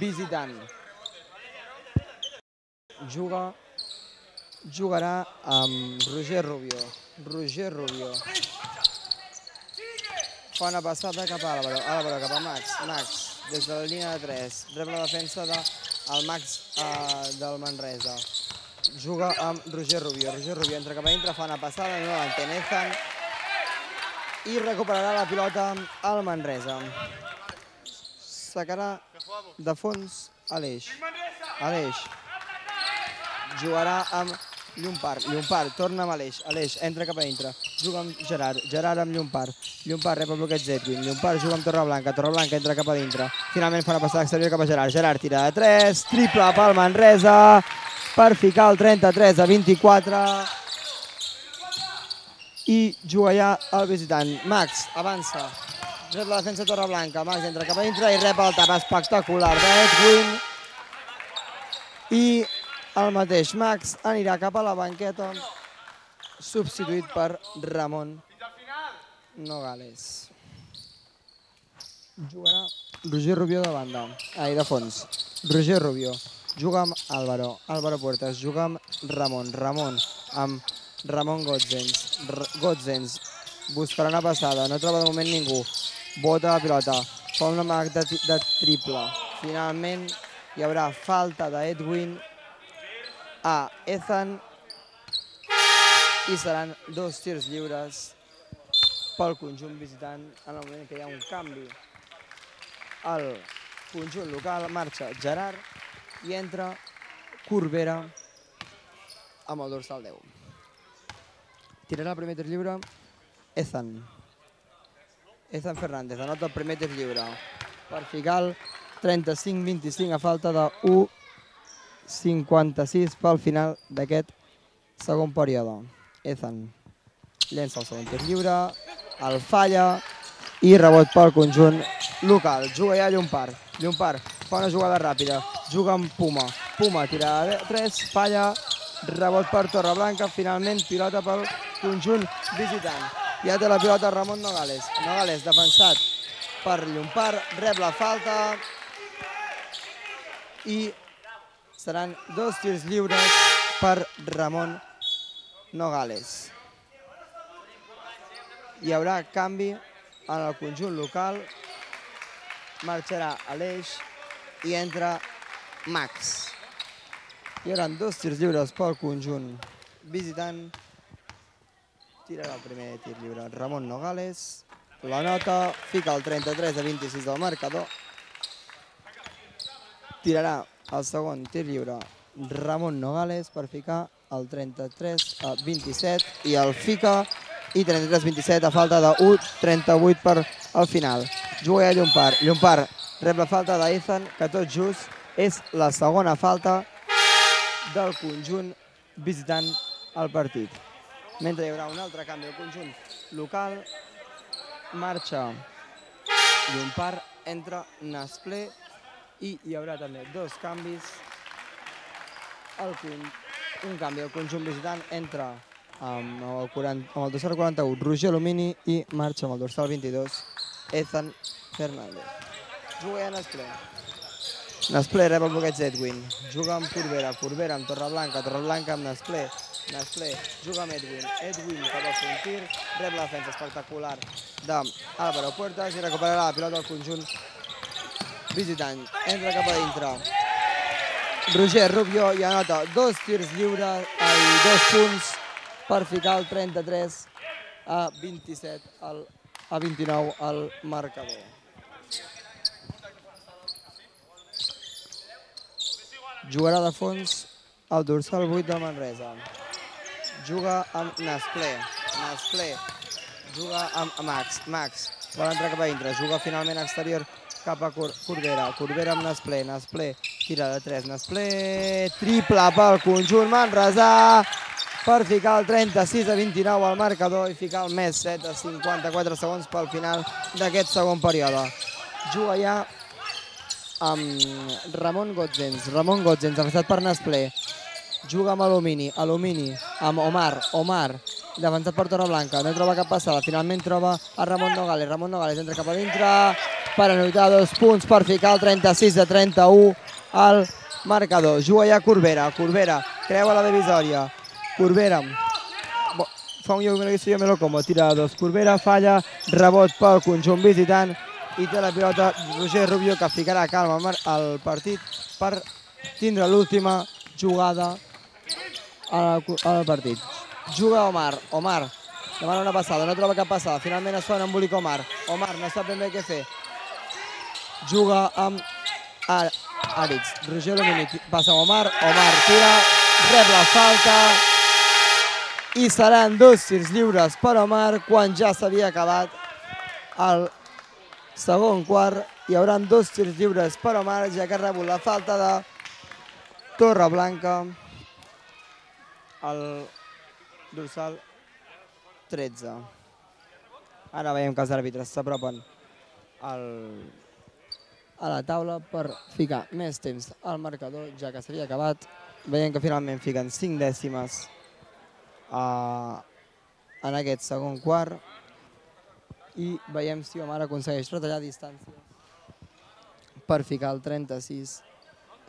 visitant. Jugarà amb Roger Rubio. Roger Rubio fa una passada cap a Álvaro. Álvaro cap a Max. Max, des de la línia de 3. Rep la defensa del Max del Manresa. Juga amb Roger Rubio. Roger Rubio entra cap a dintre, fa una passada, no l'entén Ethan i recuperarà la pilota al Manresa. Sacarà de fons Aleix. Aleix jugarà amb Llompart. Llompart torna amb Aleix. Aleix entra cap a dintre. Juga amb Gerard. Gerard amb Llompart. Llompart rep el bloqueig d'Edwin. Llompart juga amb Torreblanca. Torreblanca entra cap a dintre. Finalment fa una passada exterior cap a Gerard. Gerard tira de 3. Triple pel Manresa per ficar el 33-24. I juga ja el visitant. Max avança. Rep la defensa Torreblanca. Max entra cap a dintre i rep el tap espectacular d'Edwin. I el mateix Max anirà cap a la banqueta, substituït per Ramon Nogales. Jugarà Roger Rubió de banda, de fons. Roger Rubió juga amb Álvaro. Álvaro Puertas juga amb Ramon. Ramon amb Ramon Gotzens. Gotzens buscarà una passada, no troba de moment ningú. Bota la pilota, fa una marc de triple. Finalment hi haurà falta d'Edwin a Ethan i seran 2 tirs lliures pel conjunt visitant en el moment que hi ha un canvi. El conjunt local marxa Gerard i entra Corbera amb el dorsal 10. Tirarà el primer tir lliure Ethan. Ethan Fernández anota el primer tir lliure per ficar el 35-25 a falta de 1:56 pel final d'aquest segon període. Ethan llença el segon tir lliure, el falla i rebot pel conjunt local. Juga ja Llompart. Llompart fa una jugada ràpida, juga amb Puma. Puma tira de 3, falla, rebot per Torreblanca, finalment pilota pel conjunt visitant. Ja té la pilota Ramon Nogales. Nogales defensat per Llompart, rep la falta i seran 2 tirs lliures per Ramon Nogales. Hi haurà canvi en el conjunt local. Marxarà Aleix i entra Max. Hi haurà 2 tirs lliures pel conjunt visitant. Tirarà el primer tir lliure Ramon Nogales. La nota, fica el 33-26 del marcador. Tirarà el segon tir lliure Ramon Nogales per ficar el 33-27 i el fica i 33-27 a falta de 1:38 per al final. Juga ja Llompart. Llompart rep la falta d'Ethan, que tot just és la segona falta del conjunt visitant el partit. Mentre hi haurà un altre canvi al conjunt local, marxa Llompart, entra Nasplé i hi haurà també 2 canvis. Un canvi al conjunt visitant entra amb el dorsal 41 Roger Alumini i marxa amb el dorsal 22 Ethan Fernández. Juga ja Nasplé. Nasplé rep el bloqueig d'Edwin. Juga amb Corbera. Corbera amb Torreblanca. Torreblanca amb Nasplé. Nasplé juga amb Edwin. Edwin cap a fer un tir. Rep la defensa espectacular d'Álvaro Puertas i recuperarà la pilota al conjunt visitant. Entra cap a dintre Roger Rubió i anota 2 tirs lliures i 2 punts per ficar el 33-29 al marcador. Jugarà de fons el dorsal 8 del Manresa. Juga amb Nasplé. Nasplé juga amb Max. Max vol entrar cap a dintre. Juga finalment exterior cap a Corbera. Corbera amb Nasplé. Nasplé tira de 3. Nasplé triple pel conjunt manresà per ficar el 36-29 al marcador i ficar el més 7 a 54 segons pel final d'aquest segon període. Juga ja amb Ramon Gotzens. Ramon Gotzens, defensat per Nasplé. Juga amb Alumini. Alumini amb Omar. Omar, defensat per Torreblanca. No troba cap passada. Finalment troba a Ramon Nogales. Ramon Nogales entra cap a dintre per anotar 2 punts per ficar el 36-31 al marcador. Juga ja Corbera. Corbera creua la divisòria. Corbera fa un lloc que me lo como. Tira de 2. Corbera falla. Rebot pel conjunt visitant. I té la pilota Roger Rubió, que ficarà calma al partit per tindre l'última jugada al partit. Juga Omar. Omar demana una passada, no troba cap passada. Finalment es fa un embolic Omar. Omar no sap ben bé què fer. Juga amb Aritz. Roger Alumini passa amb Omar. Omar tira, rep la falta i seran 2 tirs lliures per Omar quan ja s'havia acabat el segon quart. Hi haurà 2 tirs lliures per Omar, ja que ha rebut la falta de Torreblanca, el dorsal 13. Ara veiem que els àrbitres s'apropen a la taula per ficar més temps al marcador, ja que s'havia acabat. Veiem que finalment fiquen 5 dècimes en aquest segon quart i veiem si Omar aconsegueix retallar distàncies per ficar el 36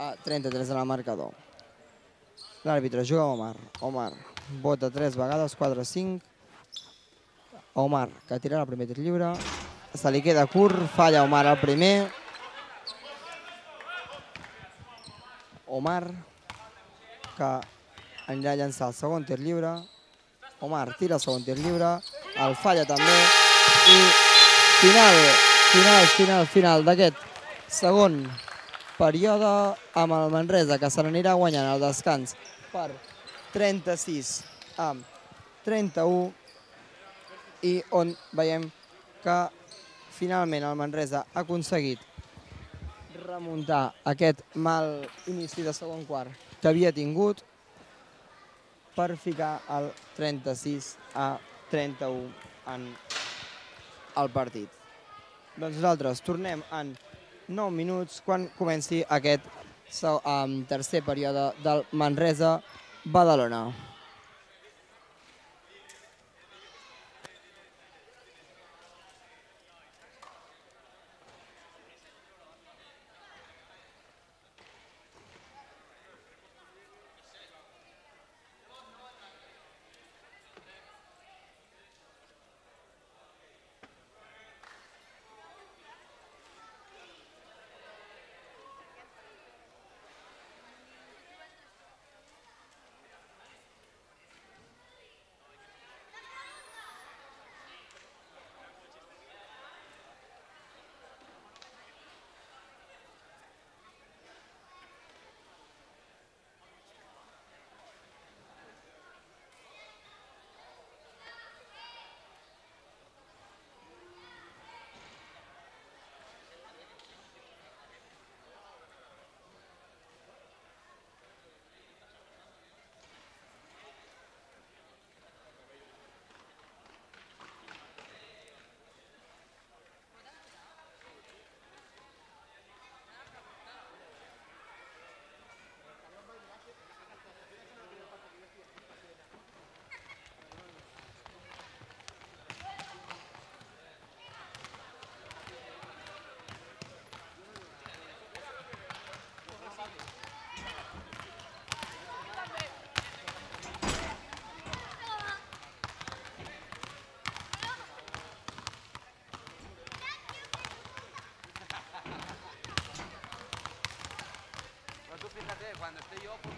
a 33 en el marcador. L'àrbitre juga a Omar. Omar vota 3 vegades, 4-5. Omar, que tirarà el primer tir lliure. Se li queda curt, falla Omar el primer. Omar, que anirà a llançar el segon tir lliure. Omar tira el segon tir lliure, el falla també. I final d'aquest segon període amb el Manresa, que se n'anirà guanyant el descans per 36 a 31 i on veiem que finalment el Manresa ha aconseguit remuntar aquest mal inici de segon quart que havia tingut per ficar el 36 a 31 en el partit. Doncs nosaltres tornem en 9 minuts quan comenci aquest tercer període del Manresa-Badalona. Cuando esté yo, pues...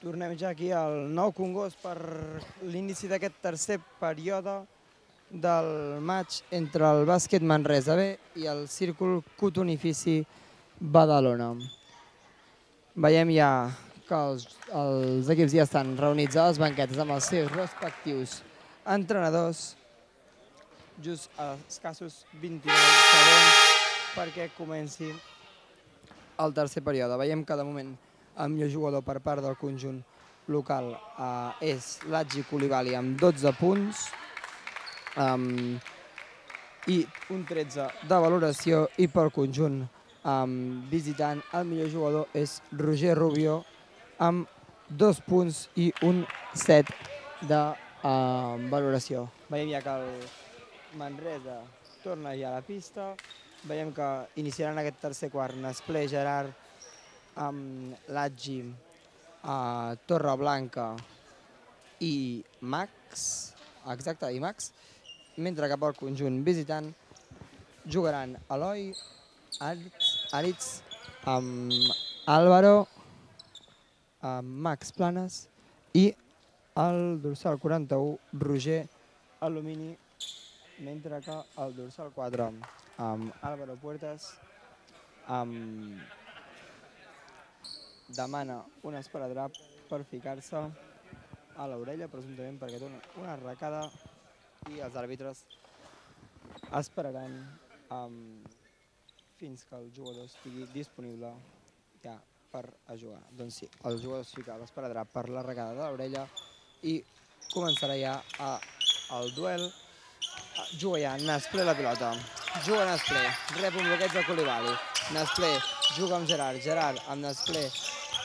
Tornem ja aquí al Nou Congost per l'inici d'aquest tercer període del maig entre el bàsquet Manresa B i el Círcul Cotonifici Badalona. Veiem ja que els equips ja estan reunits a les banquetes amb els seus respectius entrenadors, just a escassos 29 segons perquè comenci el tercer període. Veiem que de moment el millor jugador per part del conjunt local és l'Adji Coulibaly amb 12 punts i un 13 de valoració, i pel conjunt visitant el millor jugador és Roger Rubio amb 2 punts i un 7 de valoració. Veiem ja que el Manresa torna ja a la pista. Veiem que iniciaran aquest tercer quart Nesplé, Gerard, l'Adji, Torreblanca i Max, mentre que pel conjunt visitant jugaran Eloi, Aritz, Álvaro, Max Planes i el dorsal 41, Roger Alumini, mentre que el dorsal 4, Álvaro Puertas, demana un esparadrap per ficar-se a l'orella, presumptament perquè té una arracada, i els àrbitres esperaran fins que el jugador estigui disponible ja per a jugar. Doncs sí, el jugador es fica l'esparadrap per l'arracada de l'orella i començarà ja el duel. Juga ja Nesplé la pilota, juga Nesplé, rep un bloqueig de Coulibaly, Nesplé juga amb Gerard, Gerard amb Nesplé,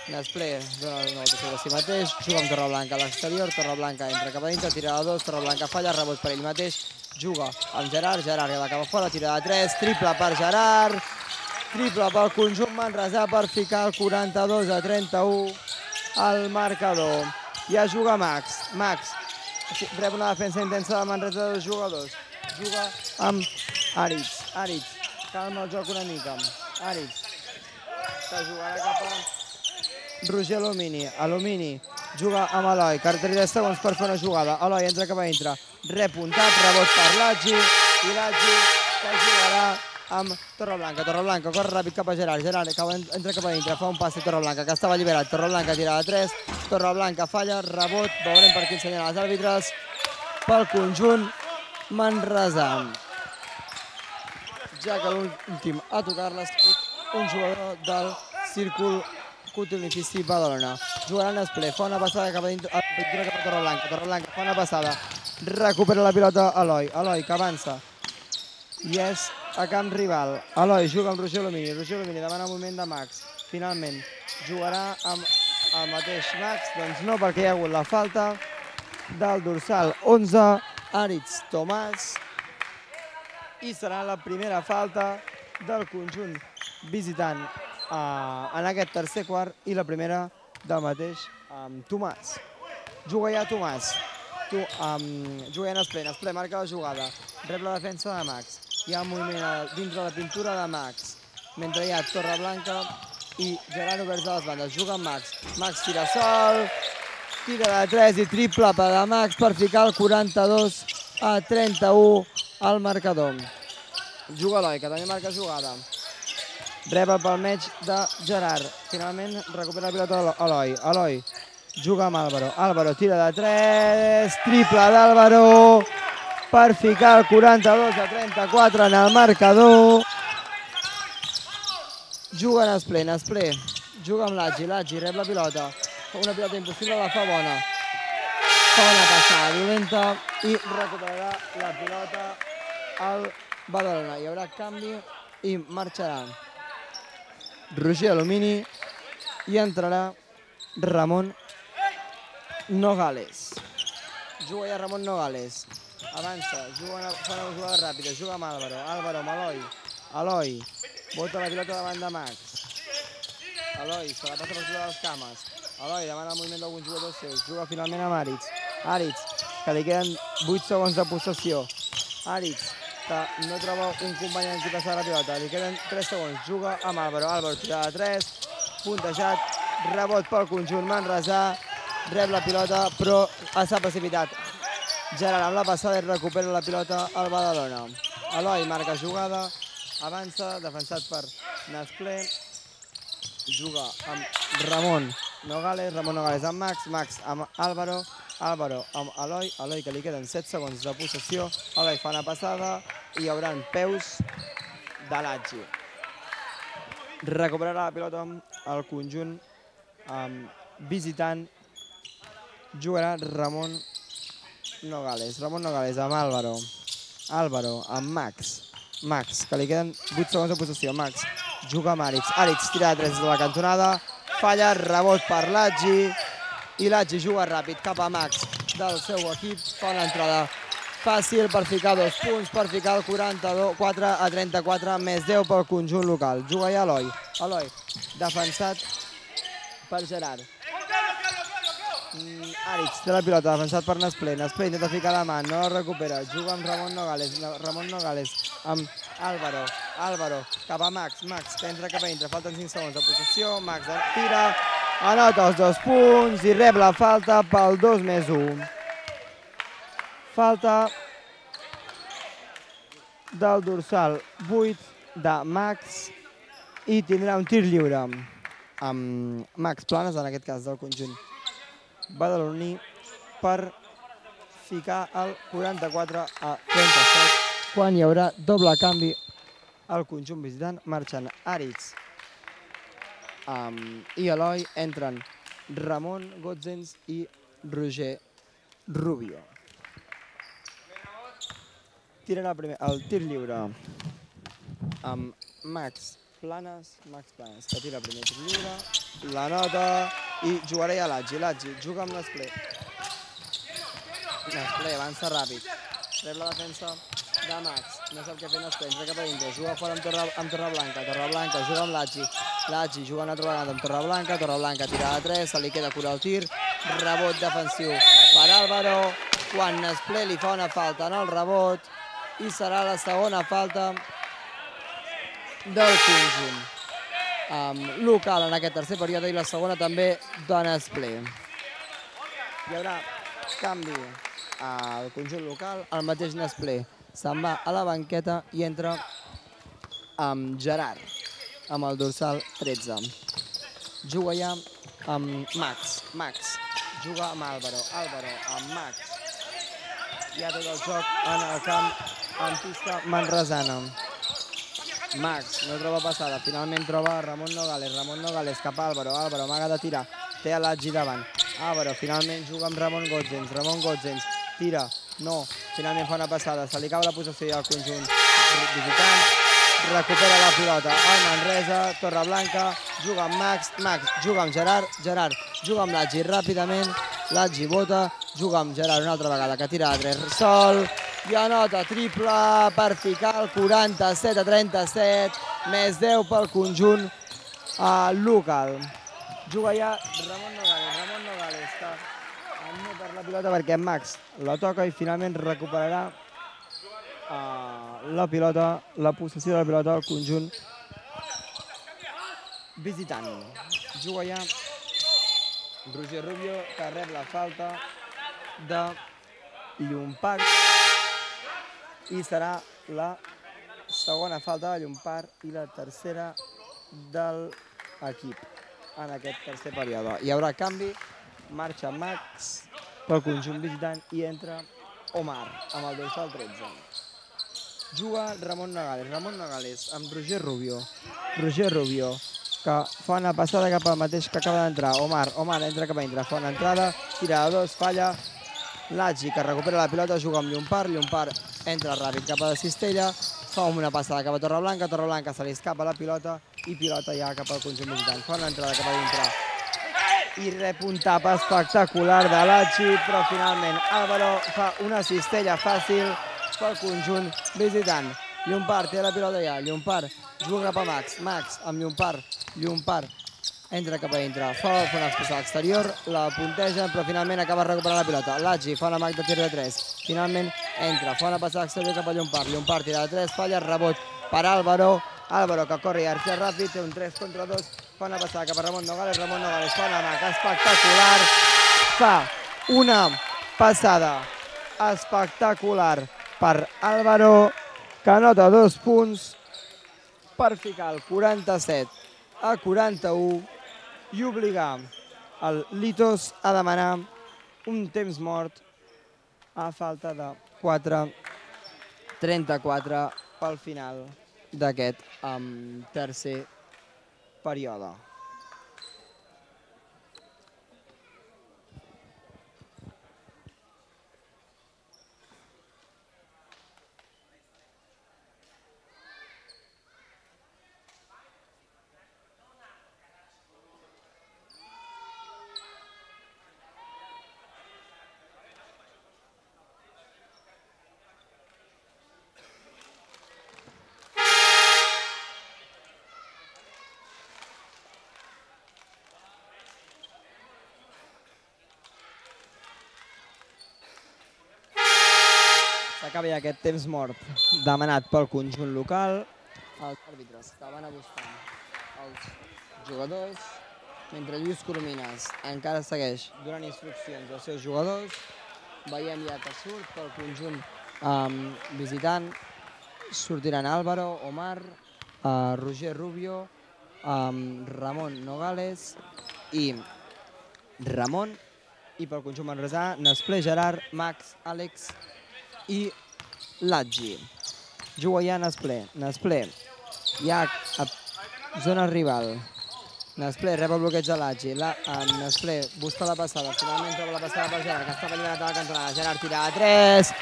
Nesplé dona una volta sobre si mateix, juga amb Torreblanca a l'exterior, Torreblanca entra cap a dintre, tira de 2, Torreblanca falla, rebot per ell mateix, juga amb Gerard, Gerard que va cap a fora, tira de 3, triple per Gerard, triple pel conjunt manresà per ficar el 42-31 al marcador. Ja juga Max, Max rep una defensa intensa de Manresa de dos jugadors, juga amb Aritz, Aritz calma el joc una mica, Aritz que jugarà cap a Roger Alumini, Alumini juga amb Eloi, 30 segons per fer una jugada, Eloi entra cap a dintre, rep un tap, rebot per l'Adji, i l'Adji que jugarà amb Torreblanca, Torreblanca corre ràpid cap a Gerard, Gerard entra cap a dintre, fa un passi a Torreblanca que estava alliberat, Torreblanca tira de 3, Torreblanca falla, rebot, veurem per quin senyal els àrbitres, pel conjunt manresà. Ja que l'últim a tocar-la ha sigut un jugador del Círcul Cotonifici Badalona. Jugarà Nesplé, fa una passada cap a dintre, cap a Torreblanca, Torreblanca fa una passada, recupera la pilota Eloi, Eloi que avança, i és a camp rival. Eloi juga amb Roger Alumini, Roger Alumini demana un moviment de Max, finalment jugarà amb el mateix Max, doncs no, perquè hi ha hagut la falta del dorsal 11, Aritz Tomàs, i serà la primera falta del conjunt visitant en aquest tercer quart i la primera del mateix Tomàs. Juga ja Tomàs, juga ja Nesplé, Nesplé marca la jugada, rep la defensa de Max, hi ha un moviment dintre de la pintura de Max, mentre hi ha Torreblanca i Gerard oberts a les bandes, juga amb Max, Max tira sol, tira de 3 i triple de Max per ficar el 42-31 al marcador. Juga Eloi, que també marca jugada, rep el palmeig de Gerard, finalment recupera la pilota Eloi, Eloi juga amb Álvaro, Álvaro tira de 3, triple d'Álvaro per ficar el 42-34 en el marcador. Juga Nesplé, Nesplé juga amb l'Adji, l'Adji rep la pilota, una pilota impossible, la fa bona, fa una passada violenta i recuperarà la pilota al Badalona. Hi haurà canvi i marxarà Roger Alumini i entrarà Ramon Nogales. Juga ja Ramon Nogales, avança, fa una jugada ràpida, juga amb Álvaro, Álvaro amb Eloi, Eloi bota la pilota davant de Max, Eloi se la passa per sobre les cames, Eloi demana el moviment d'alguns jugadors seus, juga finalment amb Aritz, Aritz que li queden 8 segons de possessió, Aritz que no troba un company en qui passar la pilota, li queden 3 segons, juga amb Álvaro, Álvaro tira de 3, puntejat, rebot pel conjunt manresà, rep la pilota, però s'ha precipitat. Gerard amb la passada i recupera la pilota al Badalona. Eloi marca jugada, avança, defensat per Nasplé, juga amb Ramon Nogales amb Max, Max amb Álvaro, Álvaro amb Eloi, Eloi que li queden 7 segons de possessió, Eloi fa una passada i hi haurà peus de Latgi. Recuperarà la pilota el conjunt visitant, jugarà Ramon Nogales amb Álvaro, Álvaro amb Max, Max que li queden 8 segons de possessió, Max juga amb Àrix, Àrix tira de 3 de la cantonada, falla, rebot per Latgi i Latgi juga ràpid cap a Max del seu equip, fa una entrada fàcil per ficar 2 punts, per ficar el 44-34, més 10 pel conjunt local. Juga ja Eloi, Eloi defensat per Gerard. Àrix té la pilota, defensat per Nasplé, Nasplé intenta ficar la mà, no la recupera, juga amb Ramon Nogales amb Álvaro, Álvaro cap a Max, Max que entra cap a dintre, falten 5 segons de possessió, Max tira, anota els 2 punts i rep la falta pel 2+1. Falta del dorsal 8 de Max i tindrà un tir lliure amb Max Planes, en aquest cas del conjunt badaloní, per ficar el 44-37 quan hi haurà doble canvi al conjunt visitant. Marxen Àrix i Eloi, entren Ramon Gotzens i Roger Rubio. Tirarà primer el tir lliure amb Max Planes, que tira el primer tir lliure, la nota i jugarà ja Latgi, juga amb Nasplé. Nasplé avança ràpid, rep la defensa de Max, no sap què fer Nasplé, entra cap a dintre, juga fora amb Torreblanca juga amb Latgi juga una altra vegada amb Torreblanca tira de 3, se li queda cura el tir, rebot defensiu per Álvaro, quan Nasplé li fa una falta en el rebot i serà la segona falta del conjunt local en aquest tercer període i la segona també de Nasplé. Hi haurà canvi al conjunt local, el mateix Nasplé se'n va a la banqueta i entra amb Gerard, amb el dorsal 13. Juga ja amb Max juga amb Álvaro amb Max. Hi ha tot el joc en el camp en pista manresana. Max no troba passada, finalment troba Ramon Nogales cap a Álvaro, amaga de tirar, té a Latgi davant, Álvaro finalment juga amb Ramon Gotzens, tira, no, finalment fa una passada, se li cau la possessió al conjunt visitant, recupera la pilota el Manresa, Torreblanca, juga amb Max juga amb Gerard juga amb Latgi ràpidament, Latgi bota, juga amb Gerard una altra vegada, que tira de 3 sol, i anota triple per ficar el 47-37, més 10 pel conjunt local. Juga ja Ramon Nogales, que no perd la pilota perquè Max la toca i finalment recuperarà la possessió de la pilota del conjunt visitant. Juga ja Roger Rubio, que rep la falta de Llompart i serà la segona falta de Llompart i la tercera de l'equip en aquest tercer període. Hi haurà canvi, marxa Max pel conjunt visitant i entra Omar amb el dorsal 13. Juga Ramon Nogales amb Roger Rubio, que fa una passada cap al mateix que acaba d'entrar Omar entra cap a dintre, fa una entrada, tira de 2, falla, Latgi que recupera la pilota, juga amb Llompart entra ràpid cap a la cistella, fa una passada cap a Torreblanca se li escapa la pilota i pilota ja cap al conjunt visitant, fa una entrada cap a dintre i rep un tap espectacular de Latgi, però finalment Álvaro fa una cistella fàcil pel conjunt visitant. Llompart té la pilota ja, Llompart juga cap a Max amb Llompart entra cap a dintre, fa una passada exterior, la punteja, però finalment acaba recuperant la pilota. Latgi fa una mag de tir de 3, finalment entra, fa una passada exterior cap a Llompart tira de 3, falla, rebot per Álvaro que corre i arxa ràpid, té un 3 contra 2, fa una passada cap a Ramon Nogales fa una mag espectacular, fa una passada espectacular per Álvaro, que anota 2 punts per ficar el 47-41 i obligar el Litos a demanar un temps mort a falta de 4:34 pel final d'aquest tercer període. S'acaba ja aquest temps mort demanat pel conjunt local. Els àrbitres estaven buscant els jugadors, mentre Lluís Coromines encara segueix donant instruccions als seus jugadors. Veiem ja que surt pel conjunt visitant. Sortiran Álvaro, Omar, Roger Rubio, Ramon Nogales i Ramon. I pel conjunt manresà, Nesplé, Gerard, Max, Àlex i Latgi. Juga ja Nesplé. Nesplé ja a zona rival. Nesplé rep el bloqueig de Latgi. Nesplé busca la passada. Finalment troba la passada per Gerard, que està alliberat a la cantonada. Gerard tira a 3.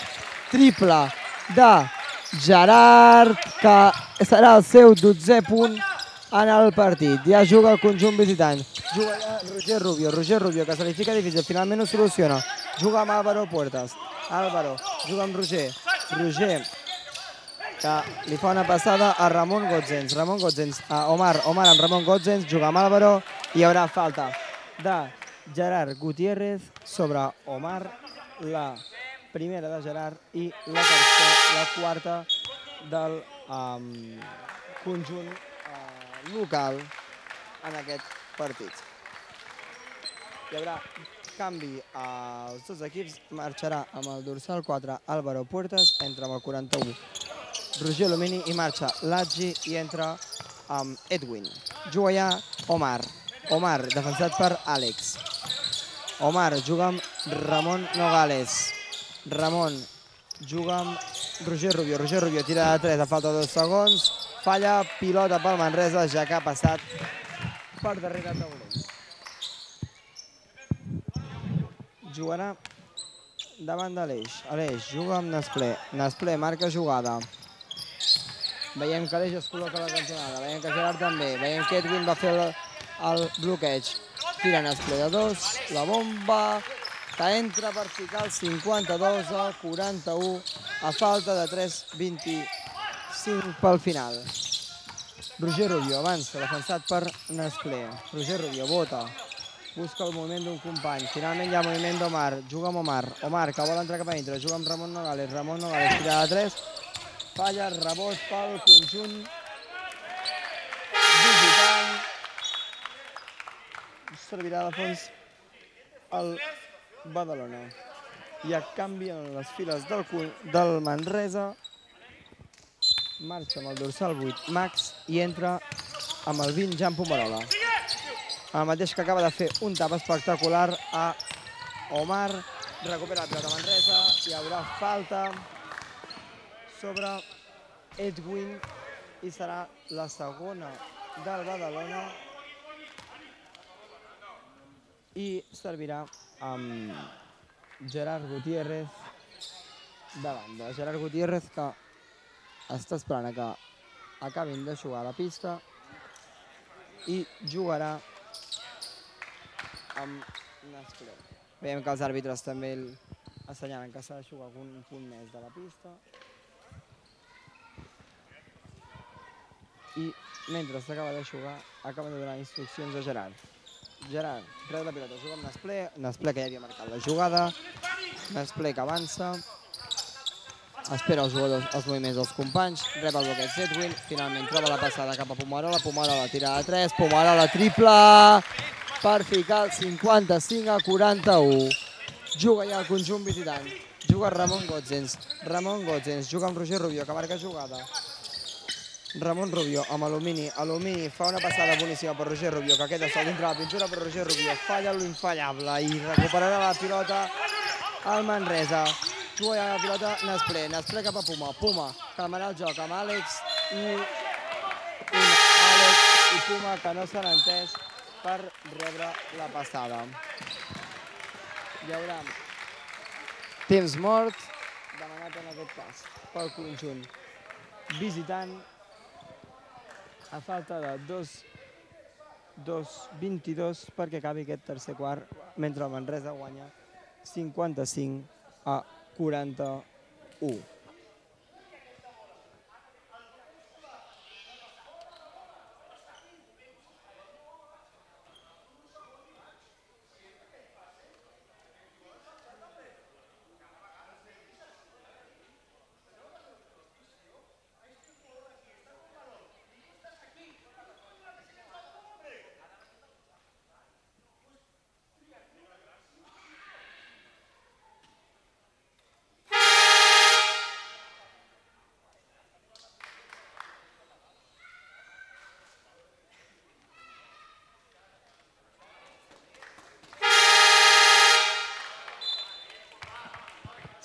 Triple de Gerard, que serà el seu 12è punt en el partit. Ja juga el conjunt visitant. Juga ja Roger Rubio. Roger Rubio, que se li fica difícil. Finalment ho soluciona. Juga amb Álvaro Puertas. Álvaro juga amb Roger. Roger, que li fa una passada a Ramon Gotzens. Ramon Gotzens a Omar. Omar amb Ramon Gotzens. Juga amb Álvaro. Hi haurà falta de Gerard Gutiérrez sobre Omar. La primera de Gerard i la quarta del conjunt local en aquest partit. Hi haurà canvi als dos equips. Marxarà amb el dorsal 4 Álvaro Puertas, entra amb el 41 Roger Alumini i marxa Latgi i entra amb Edwin. Juga ja Omar. Omar, defensat per Àlex. Omar juga amb Ramon Nogales. Ramon juga amb Roger Rubio. Roger Rubio tira de 3 a falta de 2 segons. Falla, pilota pel Manresa, ja que ha passat per darrere taulell. Jugarà davant de l'Eix. Aleix juga amb Nesplé. Nesplé marca jugada. Veiem que l'Eix es col·loca a la cantonada. Veiem que Gerard també. Veiem que Edwin va fer el bloqueig. Tira Nesplé de 2. La bomba que entra per ficar el 52-41 a falta de 3:25 pel final. Roger Rubio avança, defensat per Nesplé. Roger Rubio bota. Busca el moviment d'un company. Finalment hi ha moviment d'Omar. Juga amb Omar. Omar, que vol entrar cap a dintre. Juga amb Ramon Nogales. Ramon Nogales tira de 3. Falla, rebot pel conjunt visitant. Servirà de fons el Badalona. I a canvi en les files del Manresa. Marxa amb el dorsal 8 Max i entra amb el 20 Jan Pomarola. El mateix que acaba de fer un tap espectacular a Omar. Recupera el pilota Manresa. Hi haurà falta sobre Edwin i serà la segona del Badalona. I servirà amb Gerard Gutiérrez de banda. Gerard Gutiérrez, que està esperant a que acabin de jugar a la pista i jugarà amb Nesplé. Veiem que els àrbitres també assenyalen que s'ha de jugar un punt més de la pista. I mentre s'acaba de jugar, acaben de donar instruccions a Gerard. Gerard rep la pilota, juga amb Nesplé. Nesplé, que ja havia marcat la jugada. Nesplé, que avança. Espera els jugadors, els moviments dels companys. Rep el bloqueig d'Edwin. Finalment troba la passada cap a Pomarola. Pomarola tira de 3. Pomarola triple. per ficar el 55-41. Juga ja el conjunt visitant. Juga Ramon Gotzens. Ramon Gotzens juga amb Roger Rubio, que marca jugada. Ramon Rubio amb Alumini. Alumini fa una passada boníssima per Roger Rubio, que queda sol dintre la pintura, però Roger Rubio falla l'infallable i recuperarà la pilota al Manresa. Juga ja la pilota Nesplé. Nesplé cap a Puma. Puma calmarà el joc amb Àlex i Puma, que no s'han entès per rebre la passada. Hi haurà temps mort demanat en aquest cas pel conjunt visitant a falta de 2:22 perquè acabi aquest tercer quart, mentre el Manresa guanya 55-41.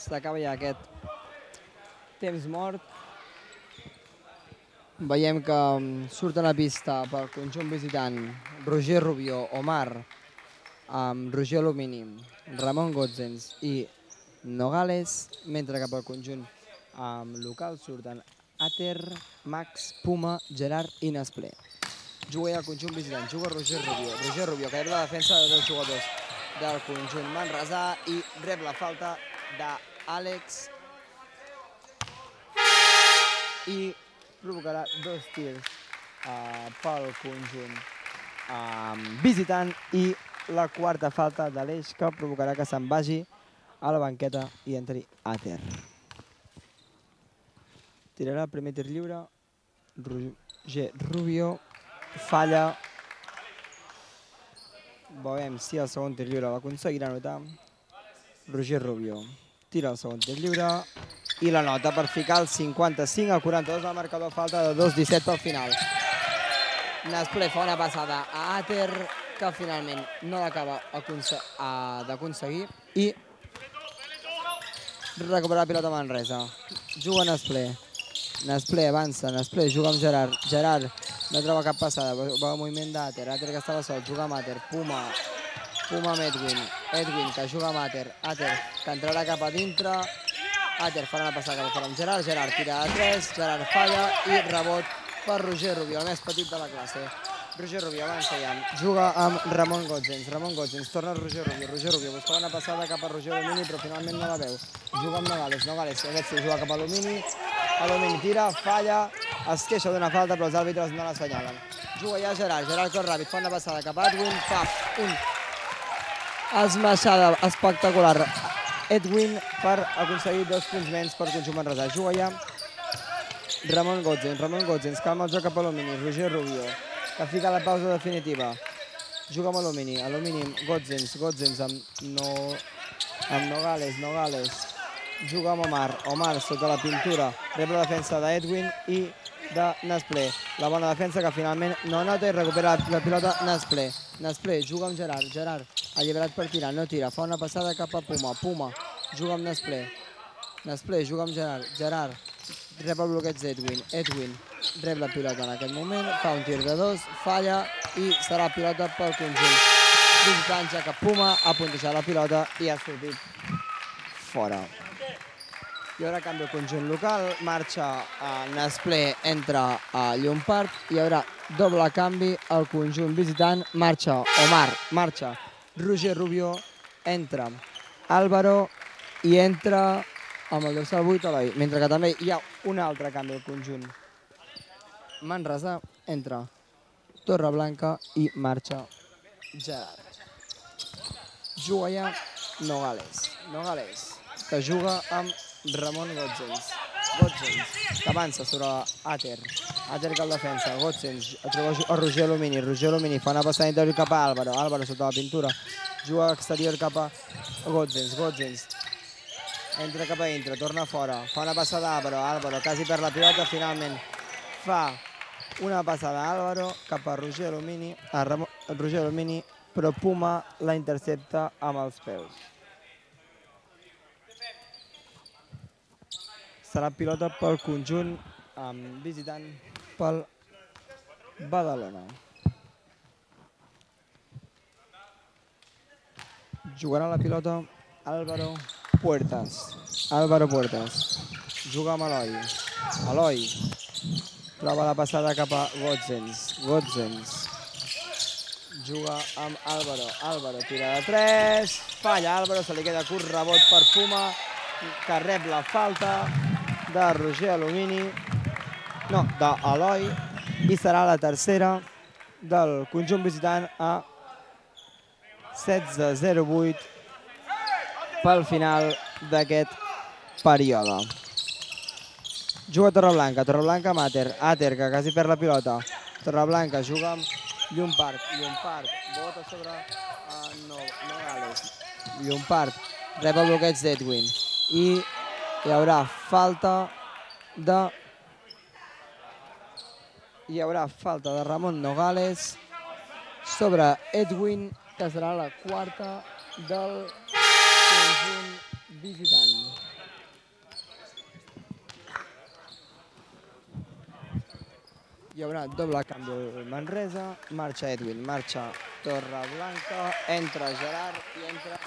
S'acaba ja aquest temps mort. Veiem que surt a la pista pel conjunt visitant Roger Rubio, Omar, Roger Alumini, Ramon Gotzens i Nogales, mentre que pel conjunt local surten Ater, Max, Puma, Gerard i Nesplé. Juga ja el conjunt visitant, juga Roger Rubio. Roger Rubio, que rep la defensa de dos jugadors del conjunt manresà i rep la falta d'Àlex i provocarà dos tirs pel conjunt visitant i la quarta falta de l'Eix que provocarà que se'n vagi a la banqueta i entri Ater. Tirarà el primer tir lliure, Roger Rubio falla. Veurem si el segon tir lliure l'aconseguirà anotar. Roger Rubio tira el segon tir lliure i la nota per ficar el 55-42 al marcador, falta de 2:17 pel final. Nesplé fa una passada a Ater que finalment no l'acaba d'aconseguir i recupera la pilota Manresa. Juga Nesplé. Nesplé avança, Nesplé juga amb Gerard. Gerard no troba cap passada, va al moviment d'Ater. Ater que estava sol, juga amb Ater. Puma amb Edwin. Edwin que juga amb Ater. Ater que entrarà cap a dintre. Ater farà una passada cap amb Gerard. Gerard tira a 3, Gerard falla i rebot per Roger Rubio, el més petit de la classe. Roger Rubio avança ja, juga amb Ramon Gotzens. Ramon Gotzens torna a Roger Rubio. Roger Rubio buscava una passada cap a Roger Alumini, però finalment no la veu. Juga amb Nogales. Nogales, aquest sí, juga cap a Alumini. Alumini tira, falla, es queixa d'una falta, però els àrbitres no l'assenyalen. Juga ja Gerard. Gerard cor ràpid, fa una passada cap a Edwin. Fa una esmaixada espectacular Edwin per aconseguir 2 punts menys per conjunt manresà. Juga ja Ramon Gotzens. Ramon Gotzens calma el joc cap a Alumini. Roger Rubio que fica la pausa definitiva. Juga amb Alumini. Alumini, Gotzens. Gotzens amb Nogales. Nogales juga amb Omar. Omar sota la pintura. Rep la defensa d'Edwin i de Nesplé. La bona defensa que finalment no nota i recupera la pilota Nesplé. Nesplé juga amb Gerard. Gerard alliberat per tirar, no tira. Fa una passada cap a Puma. Puma juga amb Nesplé. Nesplé juga amb Gerard. Gerard rep el bloqueig d'Edwin. Edwin rep la pilota en aquest moment, fa un tir de 2, falla i serà pilota pel conjunt visitant, ja que Puma ha puntejat la pilota i ha sortit fora. Hi haurà canvi al conjunt local, marxa Nesplé, entra a Llompart, hi haurà doble canvi al conjunt visitant, marxa Omar, marxa Roger Rubio, entra Álvaro i entra amb el dorsal 8 Eloi, mentre que també hi ha un altre canvi al conjunt manresà, entra Torreblanca i marxa Gerard. Juga ja Nogales. Nogales, que juga amb Ramon Gotzens. Gotzens, que avança sobre Ater. Ater que el defensa, Gotzens, troba a Roger Alumini. Roger Alumini fa una passada interior cap a Álvaro. Álvaro sota la pintura, juga exterior cap a Gotzens. Gotzens entra cap a dintre, torna fora, fa una passada a Álvaro. Álvaro quasi per la pilota, finalment fa una passada a Álvaro cap a Roger Alumini, però Puma la intercepta amb els peus. Serà pilota pel conjunt visitant pel Badalona. Jugarà la pilota Álvaro Puertas. Álvaro Puertas juga amb Eloi. Eloi troba la passada cap a Gotzens. Gotzens juga amb Álvaro. Álvaro tira de 3, falla Álvaro, se li queda curt, rebot per Puma, que rep la falta de Roger Alumini, no, d'Eloi, i serà la tercera del conjunt visitant a 16:08 pel final d'aquest període. Juga Torreblanca, Torreblanca amb Ater. Ater, que quasi perd la pilota. Torreblanca juga amb Llompart. Llompart bota sobre Nogales. Llompart rep el bloqueig d'Edwin. I hi haurà falta de Ramon Nogales sobre Edwin, que serà la quarta del conjunt visitant. Hi haurà doble canvi al Manresa, marxa Edwin, marxa Torreblanca, entra Gerard i entra...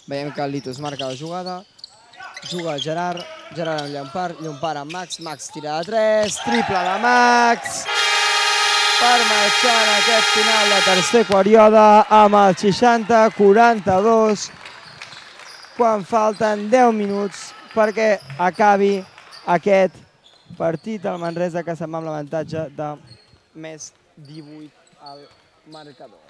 Veiem que el Litus marca la jugada, juga Gerard, Gerard amb Llompart, Llompart amb Max, Max tira de 3, triple de Max, per marxar en aquest final de tercer període amb el 60-42, quan falten 10 minuts perquè acabi aquest partit al Manresa, que se'n va amb l'avantatge de més 18 al marcador.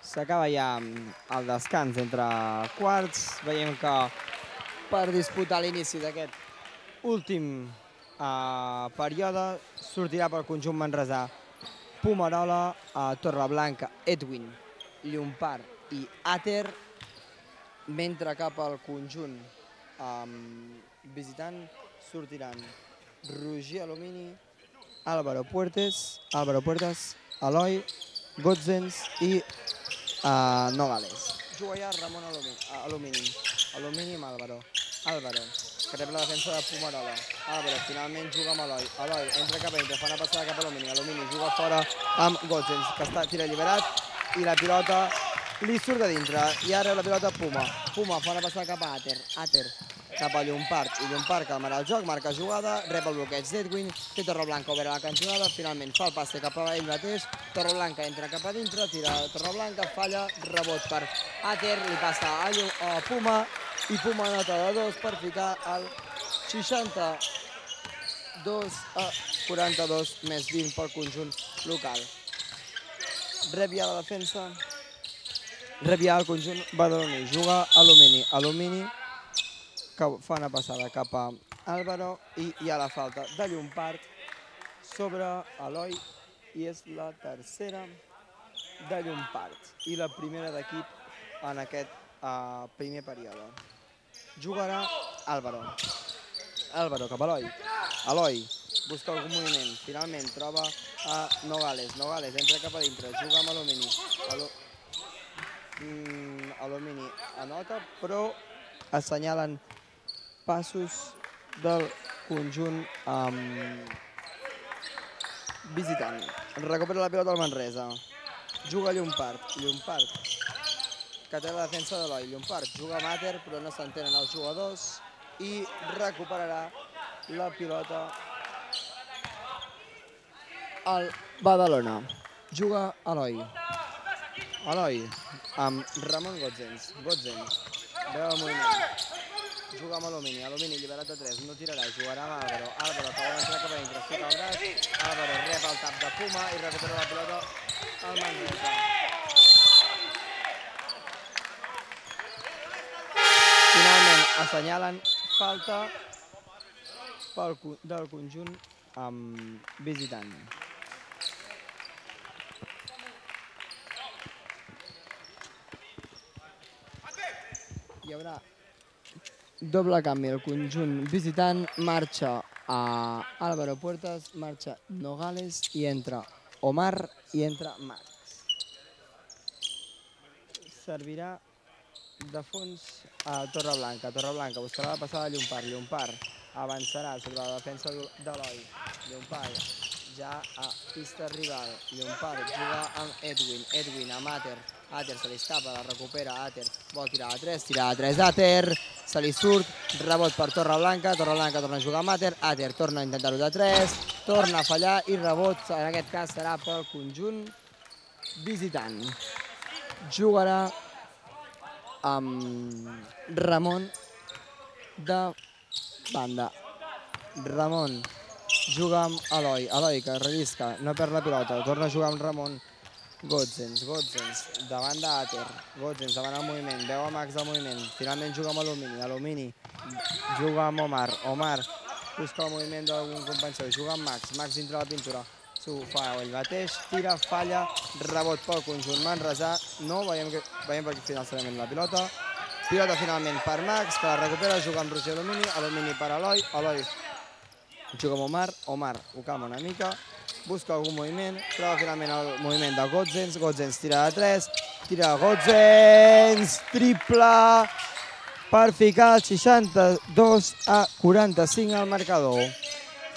S'acaba ja el descans entre quarts. Veiem que per disputar l'inici d'aquest últim període sortirà pel conjunt manresà Pumarola, Torreblanca, Edwin, Llompart i Ater, mentre cap al conjunt visitant sortiran Roger Alumini, Álvaro Puertas, Eloi, Gotzens i Nogales. Juga ja Ramon Alumini. Alumini amb Álvaro. Álvaro, que rep la defensa de Pumarola. Álvaro finalment juga amb Eloi. Eloi entra cap a dintre, fa una passada cap a Alumini. Alumini juga fora amb Gotzens, que tira alliberat i la pilota li surt de dintre. I ara la pilota Puma. Puma fa una passada cap a Ater. Ater cap a Llompart. I Llompart calmarà el joc, marca jugada, rep el bloqueig d'Edwin, té Torreblanca oberta la cantonada, finalment fa el passe cap a ell mateix, Torreblanca entra cap a dintre, tira Torreblanca, falla, rebot per Ater, li passa a Puma, i Puma nota de 2 per ficar el 62-42 més 20 pel conjunt local. Rep ja la defensa, rep ja el conjunt badaloní, juga Alumini. Alumini que fa una passada cap a Álvaro i hi ha la falta de Llompart sobre Eloi i és la tercera de Llompart i la primera d'equip en aquest primer període. Jugarà Álvaro. Álvaro cap a Eloi. Eloi busca algun moviment, finalment troba a Nogales, Nogales entra cap a dintre, juga amb Alumini, Alumini anota, però assenyalen passos del conjunt visitant. Recupera la pilota el Manresa, juga Llompart, que té la defensa de l'Eloi, Llompart juga a Mater però no s'entenen els jugadors i recuperarà la pilota el Badalona. Juga Eloi amb Ramon Gotzens, veu el moviment, juga amb Alumini, Alumini alliberat de 3, no tirarà, jugarà amb Álvaro, Álvaro que vol entrar cap a dintre, fica el braç, Álvaro rep el tap de Puma i recupera la pilota al Manresa. Finalment assenyalen falta del conjunt visitant. Hi haurà doble canvi, el conjunt visitant marxa a Álvaro Puertas, marxa Nogales i entra Omar i entra Max. Servirà de fons a Torreblanca, Torreblanca buscarà la passada de Llompart avançarà sobre la defensa d'Eloi, Llompart ja a pista rival, Llompart juga amb Edwin a Mater, Ater se li escapa, la recupera Ater, vol tirar a 3, Ater, se li surt, rebot per Torreblanca, Torreblanca torna a jugar a Mater, Ater torna a intentar-ho de 3, torna a fallar i rebot, en aquest cas serà pel conjunt visitant. Jugarà amb Ramon de banda. Ramon juga amb Eloi, Eloi que rellisca, no perd la pilota, torna a jugar amb Ramon. Gotzens davant d'Ater, Gotzens davant el moviment, veu a Max del moviment, finalment juga amb Alumini, Alumini juga amb Omar, Omar busca el moviment d'algun company seu, juga amb Max, Max dintre la pintura, s'ho fa ell mateix, tira, falla, rebot pel conjunt manresà, no, veiem per aquí finalment la pilota, pilota finalment per Max, que la recupera, juga amb Roger Alumini, Alumini per Eloi, Eloi juga amb Omar, Omar ho calma una mica, busca algun moviment, troba finalment el moviment de Gotzens, Gotzens tira de 3, tira Gotzens, triple per ficar el 62-45 al marcador.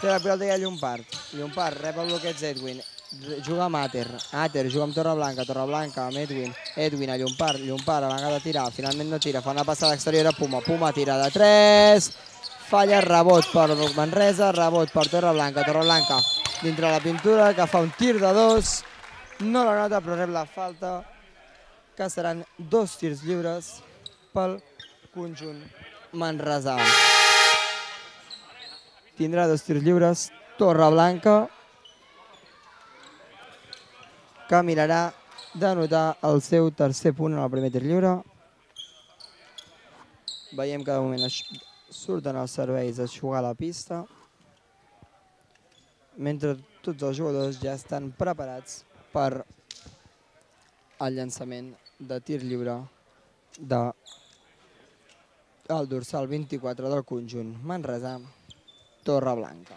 Té la pilota ja Llompart, Llompart rep el bloqueig d'Edwin, juga amb Ater, Ater juga amb Torreblanca, Torreblanca amb Edwin, Edwin a Llompart, Llompart a vegada de tirar, finalment no tira, fa una passada exterior a Puma, Puma tira de 3, falla, rebot per Manresa, rebot per Torreblanca, Torreblanca dintre la pintura, que fa un tir de 2, no la nota però rep la falta, que seran 2 tirs lliures pel conjunt manresà. Tindrà 2 tirs lliures Torreblanca, que mirarà d'anotar el seu tercer punt en el primer tir lliure. Veiem que de moment surten els serveis a jugar a la pista, mentre tots els jugadors ja estan preparats per el llançament de tir lliure del dorsal 24 del conjunt manresà, Torreblanca.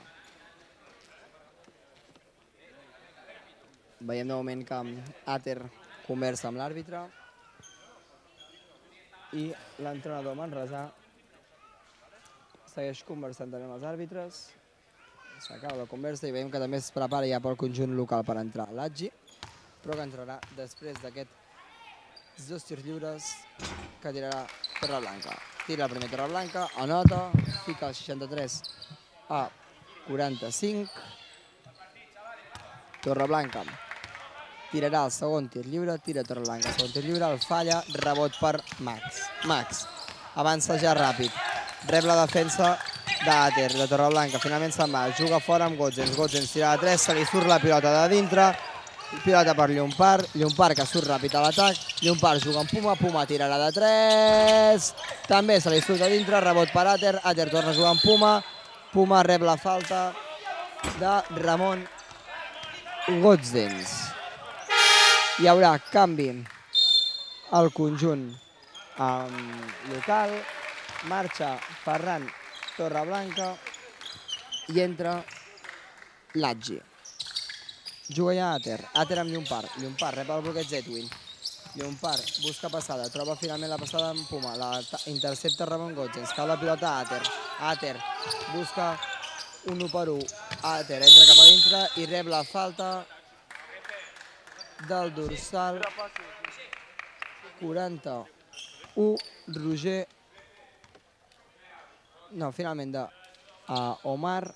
Veiem de moment que Ater conversa amb l'àrbitre i l'entrenador manresà segueix conversant també amb els àrbitres. S'acaba la conversa i veiem que també es prepara ja pel conjunt local per entrar l'Atgi, però que entrarà després d'aquests 2 tirs lliures que tirarà Torreblanca. Tira el primer Torreblanca, anota, fica el 63-45. Torreblanca tirarà el segon tir lliure, tira Torreblanca, segon tir lliure, el falla, rebot per Max. Max avança ja ràpid, rep la defensa d'Ater, de Torreblanca, finalment se'n va, juga fora amb Gotzens, Gotzens tira de 3, se li surt la pilota de dintre, pilota per Llompart, Llompart que surt ràpid a l'atac, Llompart juga amb Puma, Puma tirarà de 3, també se li surt de dintre, rebot per Ater, Ater torna a jugar amb Puma, Puma rep la falta de Ramon Gotzens. Hi haurà canvi al conjunt local, marxa Ferran Torreblanca i entra Laggi. Juga ja Ater. Ater amb Llompart. Llompart rep el bloqueig d'Edwin. Llompart busca passada, troba finalment la passada amb Puma, la intercepta Ramon Gotzens, cau la pilota a Ater. Ater busca un 1 per 1. Ater entra cap a dintre i rep la falta del dorsal 41, Roger, no, finalment de Omar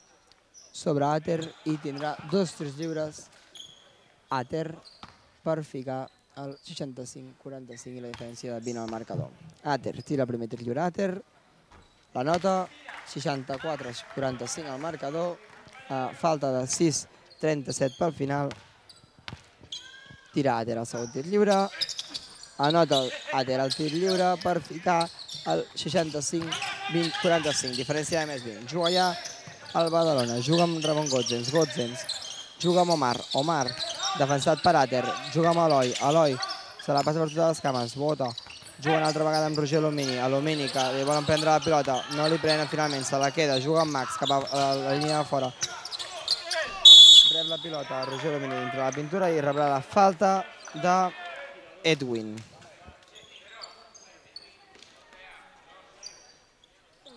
sobre Ater, i tindrà 2 tirs lliures Ater per ficar el 65-45 i la diferència de 20 al marcador. Ater tira el primer tir lliure. Ater la nota, 64-45 al marcador, falta de 6-37 pel final. Tira Ater el segon tir lliure, anota Ater el tir lliure per ficar el 65-45, diferència de més 20. Juga ja el Badalona, juga amb Ramon Gotzens, Gotzens juga amb Omar, Omar defensat per Ater, juga amb Eloi, Eloi se la passa per totes les cames, bota, juga una altra vegada amb Roger Alumini, Alumini que li volen prendre la pilota, no li prenen finalment, se la queda, juga amb Max cap a la línia de fora, rep la pilota Roger Alumini dintre la pintura i rebrà la falta d'Edwin.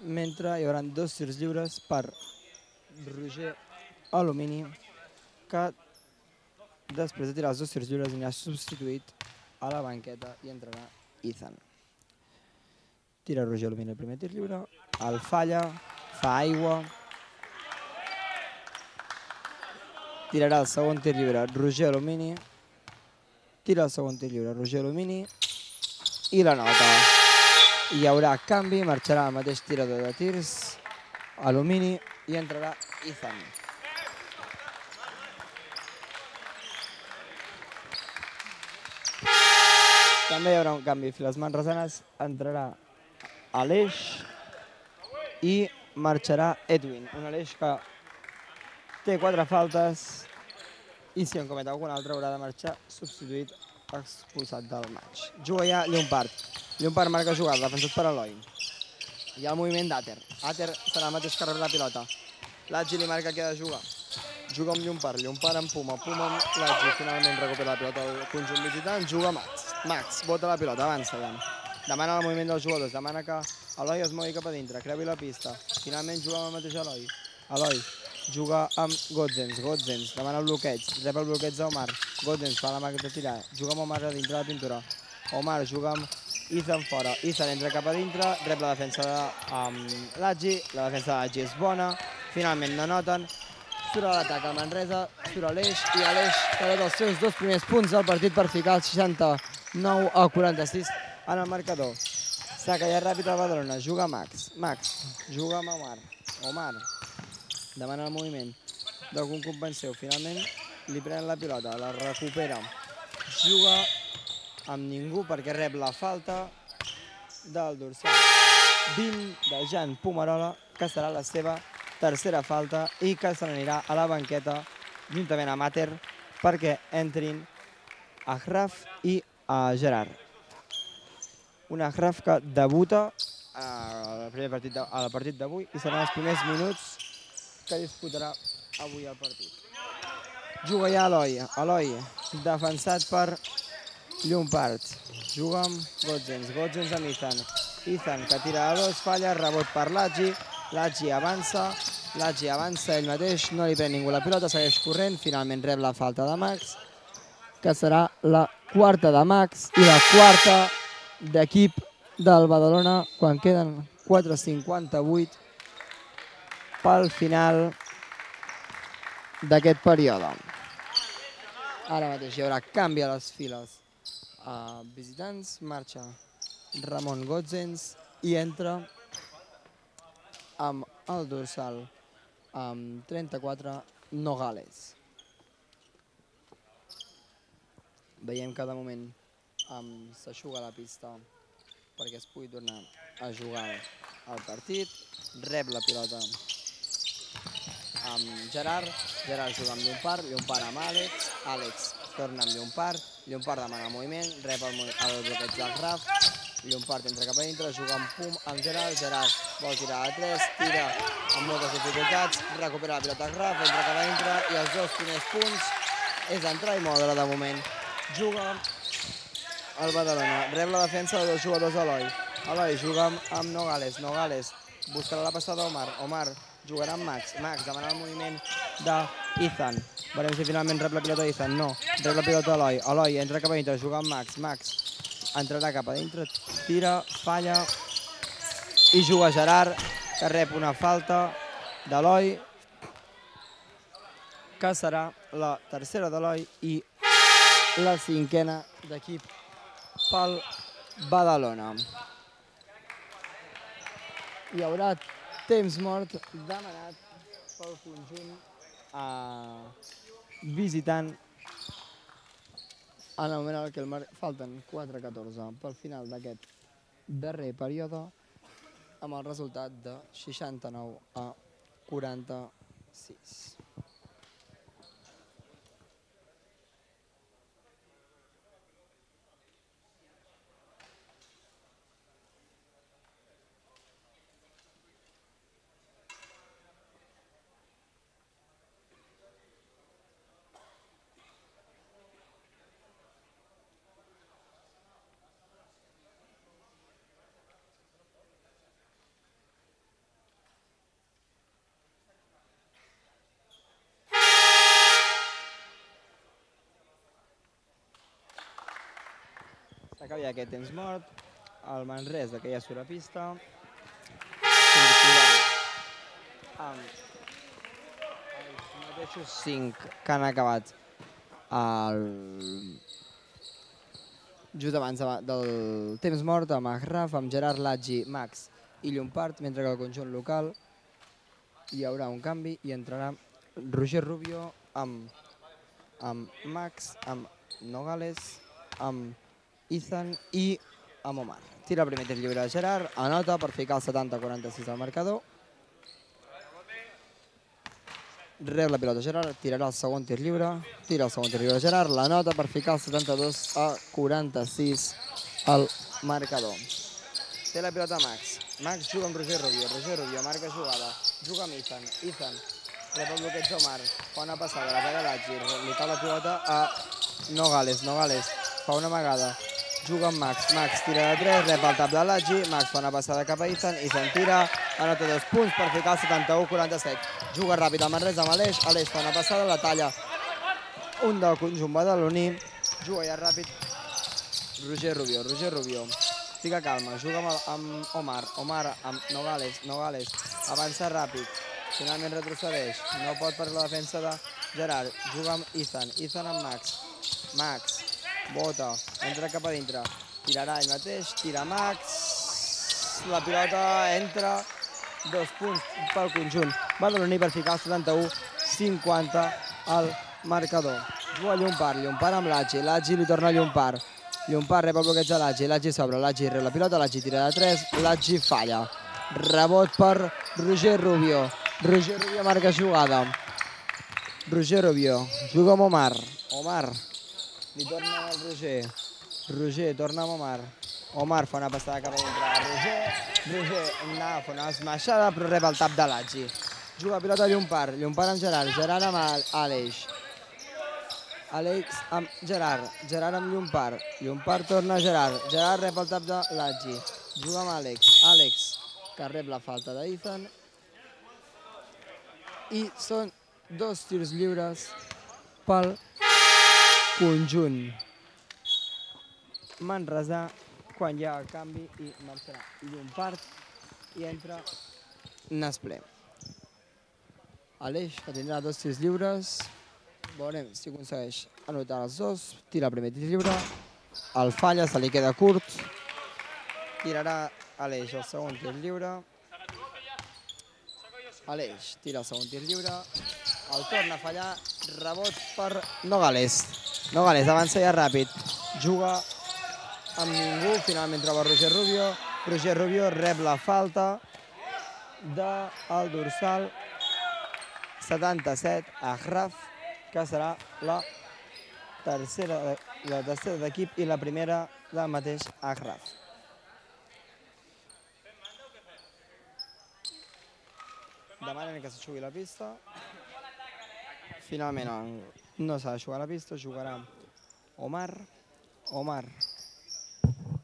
Mentre hi haurà 2 tirs lliures per Roger Alumini, que després de tirar els 2 tirs lliures anirà substituït a la banqueta i entrarà Ethan. Tira Roger Alumini el primer tir lliure, el falla, fa aigua, tirarà el segon tir lliure Roger Alumini, tira el segon tir lliure Roger Alumini i la nota. Hi haurà canvi, marxarà el mateix tirador de tirs, Alumini, i entrarà Ethan. També hi haurà un canvi, files manresanes, entrarà Aleix i marxarà Edwin. Un Aleix que té 4 faltes i si en comet algun altre haurà de marxar substituït, expulsat del match. Juga ja Llompart. Llompart marca jugada, defensat per Eloi. Hi ha el moviment d'Ater. Ater serà el mateix que rep la pilota. Laggi li marca que ha de jugar. Juga amb Llompart, Llompart amb Puma, Puma amb Laggi. Finalment recupera la pilota al conjunt visitant, juga Max. Max bota la pilota, avança ja. Demana el moviment dels jugadors, demana que Eloi es mogui cap a dintre, creui la pista. Finalment juga amb el mateix Eloi. Eloi juga amb Gotzens, Gotzens demana el bloqueig, rep el bloqueig d'Omar. Gotzens fa la màquina de tirar, juga amb Omar a dintre de la pintura. Omar juga amb Ethan fora, Ethan entra cap a dintre, rep la defensa de Laggi, la defensa de Laggi és bona, finalment no noten, surt a l'atac a Manresa, surt Aleix i Aleix que ha els seus 2 primers punts del partit per ficar el 69-46 en el marcador. Saca ja ràpid al Badalona, juga Max, Max juga amb Omar, Omar demana el moviment d'algun company seu, finalment li prenen la pilota, la recupera, juga amb ningú perquè rep la falta del dorsal 20 de Jan Pomarola, que serà la seva tercera falta i que se n'anirà a la banqueta juntament amb Ater perquè entrin Achraf i Gerard. Un Achraf que debuta al partit d'avui i seran els primers minuts que disputarà avui el partit. Juga ja Eloi, Eloi defensat per Llompart, juga amb Gotzens, Gotzens amb Ethan, Ethan que tira a 2, falla, rebot per Laggi, Laggi avança ell mateix, no li pren ningú la pilota, segueix corrent, finalment rep la falta de Max, que serà la quarta de Max i la quarta d'equip del Badalona quan queden 4:58 pel final d'aquest període. Ara mateix hi haurà canvi a les files visitants, marxa Ramon Gotzens i entra amb el dorsal amb 34 Nogales. Veiem que de moment s'aixuga la pista perquè es pugui tornar a jugar al partit. Rep la pilota amb Gerard, Gerard juga amb Llompart, Llompart amb Àlex, Àlex torna amb Llompart, Llompart demana el moviment, rep el bloqueig del Raf, Llompart entra cap a dintre, juga amb Gerard, Gerard vol tirar a 3, tira amb moltes dificultats, recupera la pilota Graf, entra cap a dintre i els 2 primers punts és entrar i moure de moment. Juga el Badalona, rep la defensa de 2 jugadors Eloi. Eloi juga amb Nogales, Nogales buscarà la passada Omar, Omar jugarà amb Max, Max demana el moviment d'Ethan. Veurem si finalment rep la pilota Ethan, no, rep la pilota Eloi, Eloi entra cap a dintre, juga amb Max, Max entrarà cap a dintre, tira, falla i juga Gerard, que rep una falta d'Eloi, que serà la tercera d'Eloi i la 5a d'equip pel Badalona. Hi haurà temps mort demanat pel conjunt visitant en el moment en què falten 4:14 pel final d'aquest darrer període amb el resultat de 69-46. S'acaba aquest temps mort, el Manresa, que ja surt a pista, sortirà amb els mateixos 5 que han acabat just abans del temps mort, amb Agraf, amb Gerard, Laggi, Max i Llompart, mentre que al conjunt local hi haurà un canvi i entrarà Roger Rubio amb Max, amb Nogales, amb Ethan i amb Omar. Tira el primer tir lliure de Gerard, anota per ficar el 70-46 al marcador. Rep la pilota Gerard, tirarà el segon tir lliure, tira el segon tir lliure de Gerard, l'anota per ficar el 72-46 al marcador. Té la pilota Max, Max juga amb Roger Rubio, Roger Rubio marca jugada, juga amb Ethan, Ethan rep el bloqueig d'Omar, fa una passada, la pega Laggi, li cau la pilota a Nogales, Nogales fa una amagada, juga amb Max, Max tira de 3, rep el tap de Laggi, Max fa una passada cap a Ethan, Ethan tira, anota 2 punts per ficar el 71-47. Juga ràpid el Manresa amb Aleix, Aleix fa una passada, la talla un del conjunt badaloní, juga ja ràpid Roger Rubio, Roger Rubio fica calma, juga amb Omar, Omar amb Nogales, Nogales avança ràpid, finalment retrocedeix, no pot per la defensa de Gerard, juga amb Ethan, Ethan amb Max, Max bota, entra cap a dintre, tirarà ell mateix, tira Max, la pilota entra, 2 punts pel conjunt badaloní per ficar el 71-50 al marcador. Juga Llompart, Llompart amb Laggi, Laggi li torna a Llompart, Llompart rep el bloqueig de Laggi, Laggi s'obre, Laggi rep la pilota, Laggi tira de 3, Laggi falla, rebot per Roger Rubio, Roger Rubio marca jugada, Roger Rubio juga amb Omar, Omar li torna al Roger, Roger torna amb Omar, Omar fa una passada cap a dintre, Roger anava a fer una esmaixada però rep el tap de Laggi, juga pilota Llompart, Llompart amb Gerard, Gerard amb Aleix, Àlex amb Gerard, Gerard amb Llompart, Llompart torna a Gerard, Gerard rep el tap de Laggi, juga amb Àlex, Àlex que rep la falta d'Ethan i són 2 tirs lliures pel conjunt manresà quan hi ha el canvi i marxarà Llompart i entra Nasplé. Aleix que tindrà 2 tirs lliures, veurem si aconsegueix anotar els 2, tira el primer tir lliure, el falla, se li queda curt, tirarà Aleix el segon tir lliure, Aleix tira el segon tir lliure, el torna a fallar, rebot per Nogales, Nogales avança ja ràpid, juga amb ningú, finalment troba Roger Rubio, Roger Rubio rep la falta del dorsal 77 a Agraf, que serà la tercera d'equip i la primera del mateix Agraf. demanen que s'aixugui la pista. Finalment no s'ha d'aixugar la pista, jugarà Omar,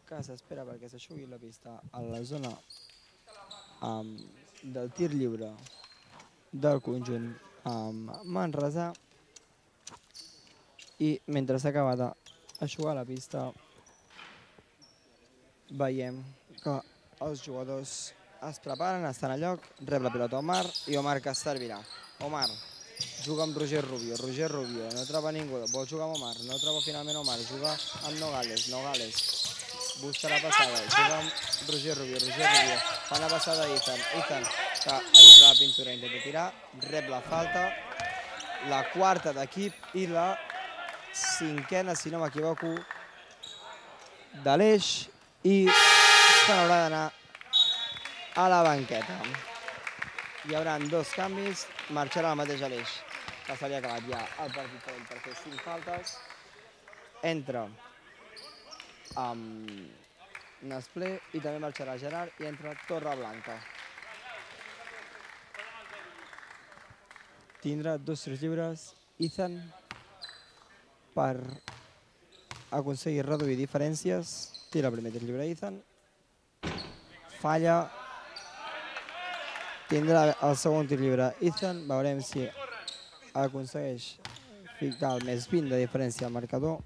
que s'espera perquè s'aixugui la pista a la zona del tir lliure del conjunt manresà, i mentre s'acaba d'aixugar la pista veiem que els jugadors es preparen, estan a lloc, rep la pilota Omar i Omar que servirà. Omar juga amb Roger Rubio, no troba ningú, vol jugar amb Omar, no troba finalment Omar, juga amb Nogales busca la passada, juga amb Roger Rubio, fa la passada a Ethan, que entra a la pintura, intenta tirar, rep la falta, la quarta d'equip i la cinquena, si no m'equivoco, de l'Eix, i se n'haurà d'anar a la banqueta. Hi haurà 2 canvis, marxarà el mateix Aleix, que se li ha acabat ja el partit per ell per fer 5 faltes. Entra Nasplé i també marxarà Gerard i entra Torreblanca. Tindrà 2 tirs lliures Ethan per aconseguir reduir diferències. Tira el primer tir lliure Ethan, falla. Tindrà el segon tir lliure Ethan, veurem si aconsegueix ficar el més 20 de diferència al marcador.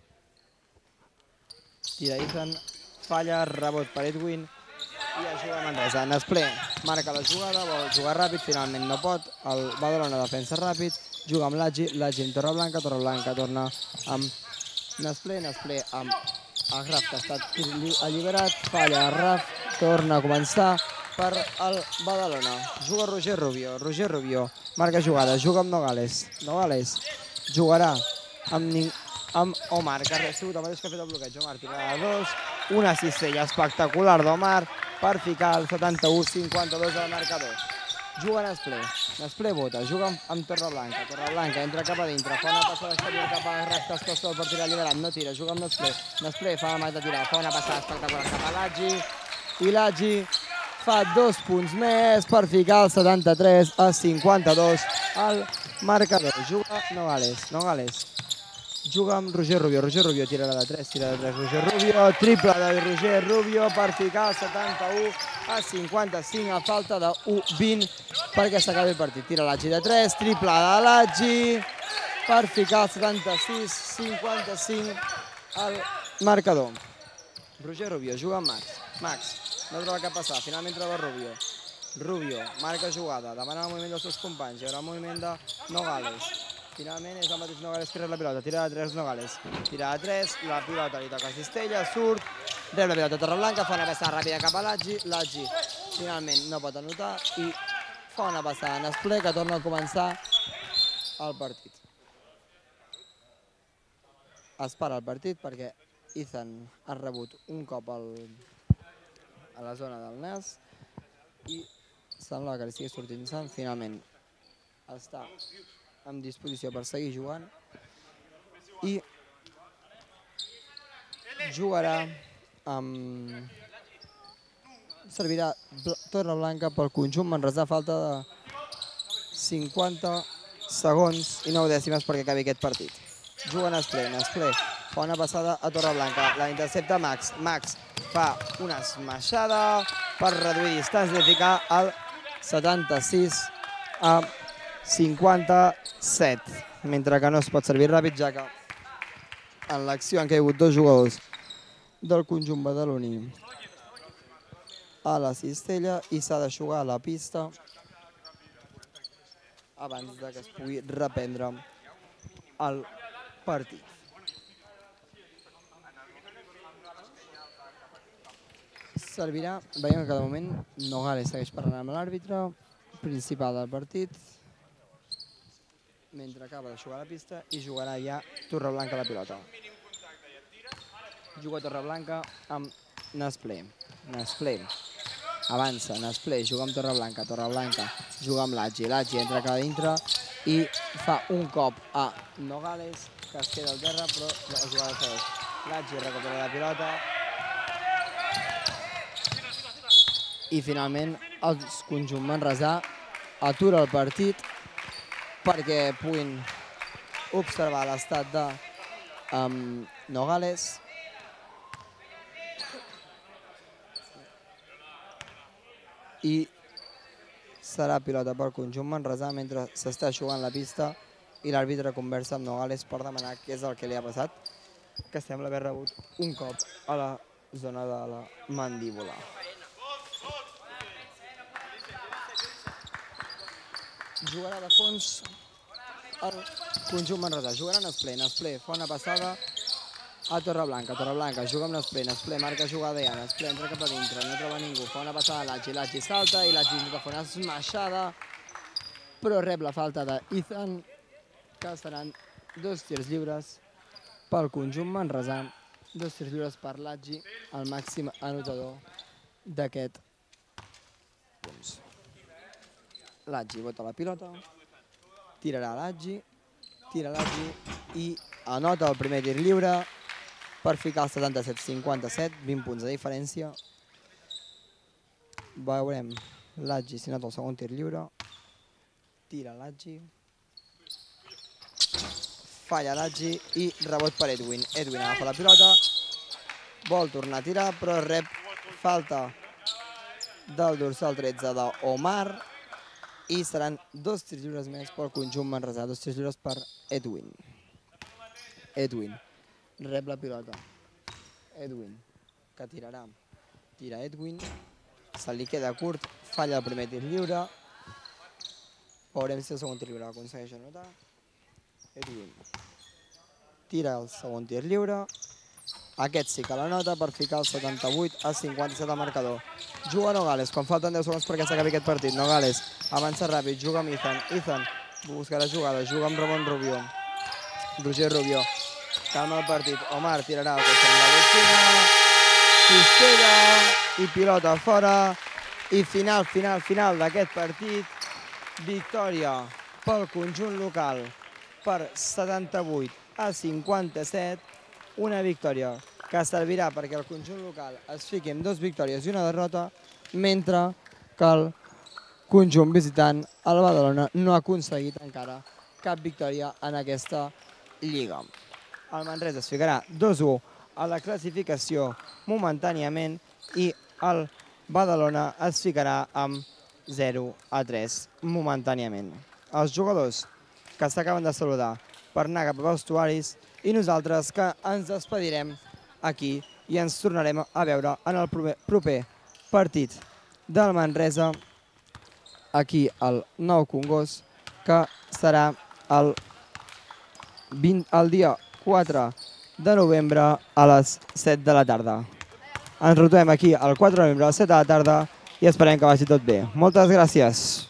Tira Ethan, falla, rebot per Edwin i ajuda Manresa. Nasplé marca la jugada, vol jugar ràpid, finalment no pot, el Badalona defensa ràpid, juga amb Lagi amb Torreblanca torna amb Nasplé amb el Graf, que ha estat alliberat, falla el Graf, torna a començar per el Badalona. Juga Roger Rubio, marca jugada, juga amb Nogales jugarà amb Omar, que ha sigut el mateix que ha fet el bloqueig. Omar tirarà de 2, una cistella espectacular d'Omar per ficar el 71-52 al marcador. Juga Nasplé vota, juga amb Torreblanca entra cap a dintre, fa una passada exterior cap a Graf, que es costa per tirar alliberat, no tira, juga amb Nasplé fa la mà de tirar, fa una passada espectacular cap a Lagi, i Lagi fa 2 punts més per ficar el 73-52 al marcador. Juga Nogales juga amb Roger Rubio tirarà de 3, Roger Rubio, triple de Roger Rubio per ficar el 71-55 a falta de 1-20 perquè s'acabi el partit. Tira Lagi de 3, triple de Lagi per ficar el 76-55 al marcador. Roger Rubio juga amb Max, no troba cap passada, finalment troba Rubio, marca jugada, demana el moviment dels seus companys, hi haurà el moviment de Nogales. Finalment és el mateix Nogales que rep la pilota, tira de 3 Nogales, tira de 3, la pilota li toca a Cistella, surt, rep la pilota Torreblanca, fa una passada ràpida cap a Lagi finalment no pot anotar i fa una passada a Nasplé, que torna a començar el partit. Es para el partit perquè Ethan ha rebut un cop a la zona del nas i sembla que li estigui sortint sang. Finalment està en disposició per seguir jugant i jugarà amb... servirà Torreblanca pel conjunt manresà, falta de 50 segons i 9 dècimes perquè acabi aquest partit. Juga Nasplé fa una passada a Torreblanca, la intercepta Max fa una esmaixada per reduir distància i ficar el 76-57, mentre que no es pot servir ràpid, ja que en l'acció han caigut 2 jugadors del conjunt badaloní a la cistella i s'ha de jugar a la pista abans que es pugui reprendre el partit. Servirà, veiem que de moment Nogales segueix parlant amb l'àrbitre principal del partit, mentre acaba de jugar a la pista i jugarà ja Torreblanca la pilota. Juga Torreblanca amb Nasplé avança, Nasplé juga amb Torreblanca juga amb Lagi entra cap a dintre i fa un cop a Nogales, que es queda al terra, però la jugada segueix. Lagi recupera la pilota i finalment el conjunt manresà atura el partit perquè puguin observar l'estat de Nogales. I serà pilota pel conjunt manresà mentre s'està jugant la pista i l'àrbitre conversa amb Nogales per demanar què és el que li ha passat, que sembla haver rebut un cop a la zona de la mandíbula. Jugarà de fons el conjunt manresà. Jugarà Nesplé fa una passada a Torreblanca. Torreblanca juga amb Nesplé, marca jugada ja. Nesplé entra cap a dintre, no troba ningú. Fa una passada a Lagi, Lagi salta i Lagi intenta fer una esmaixada, però rep la falta d'Ethan, que seran 2 tirs lliures pel conjunt manresà. 2 tirs lliures per Lagi, el màxim anotador d'aquest punts. Lagi bota la pilota, tirarà Lagi, tira Lagi i anota el primer tir lliure per ficar el 77-57, 20 punts de diferència. Veurem Lagi si nota el segon tir lliure. Tira Lagi. Falla Lagi i rebot per Edwin. Edwin agafa la pilota, vol tornar a tirar, però rep falta del dorsal 13 d'Omar i seran 2 tirs lliures més pel conjunt manresà, 2 tirs lliures per Edwin. Edwin rep la pilota. Edwin, que tirarà. Tira Edwin, se li queda curt, falla el primer tir lliure. Veurem si el segon tir lliure aconsegueix anotar. Edwin tira el segon tir lliure. Aquest sí que la nota per ficar el 78-57 al marcador. Juga Nogales, quan falten 10 segons perquè s'acabi aquest partit. Nogales avança ràpid, juga amb Ethan. Ethan buscarà jugada, juga amb Ramon Rubio. Roger Rubio calma el partit. Omar tirarà el cotxe amb la botxina. Cistella i pilota fora. I final d'aquest partit. Victòria pel conjunt local per 78-57. Una victòria que servirà perquè el conjunt local es fiqui amb 2 victòries i una derrota, mentre que el conjunt visitant, el Badalona, no ha aconseguit encara cap victòria en aquesta lliga. El Manresa es ficarà 2-1 a la classificació momentàniament i el Badalona es ficarà amb 0-3 momentàniament. Els jugadors que s'acaben de saludar per anar cap als vestuaris i nosaltres que ens despedirem aquí i ens tornarem a veure en el proper partit del Manresa aquí al Nou Congost, que serà el dia 4 de novembre a les 7 de la tarda. Ens retrobem aquí el 4 de novembre a les 7 de la tarda i esperem que vagi tot bé. Moltes gràcies.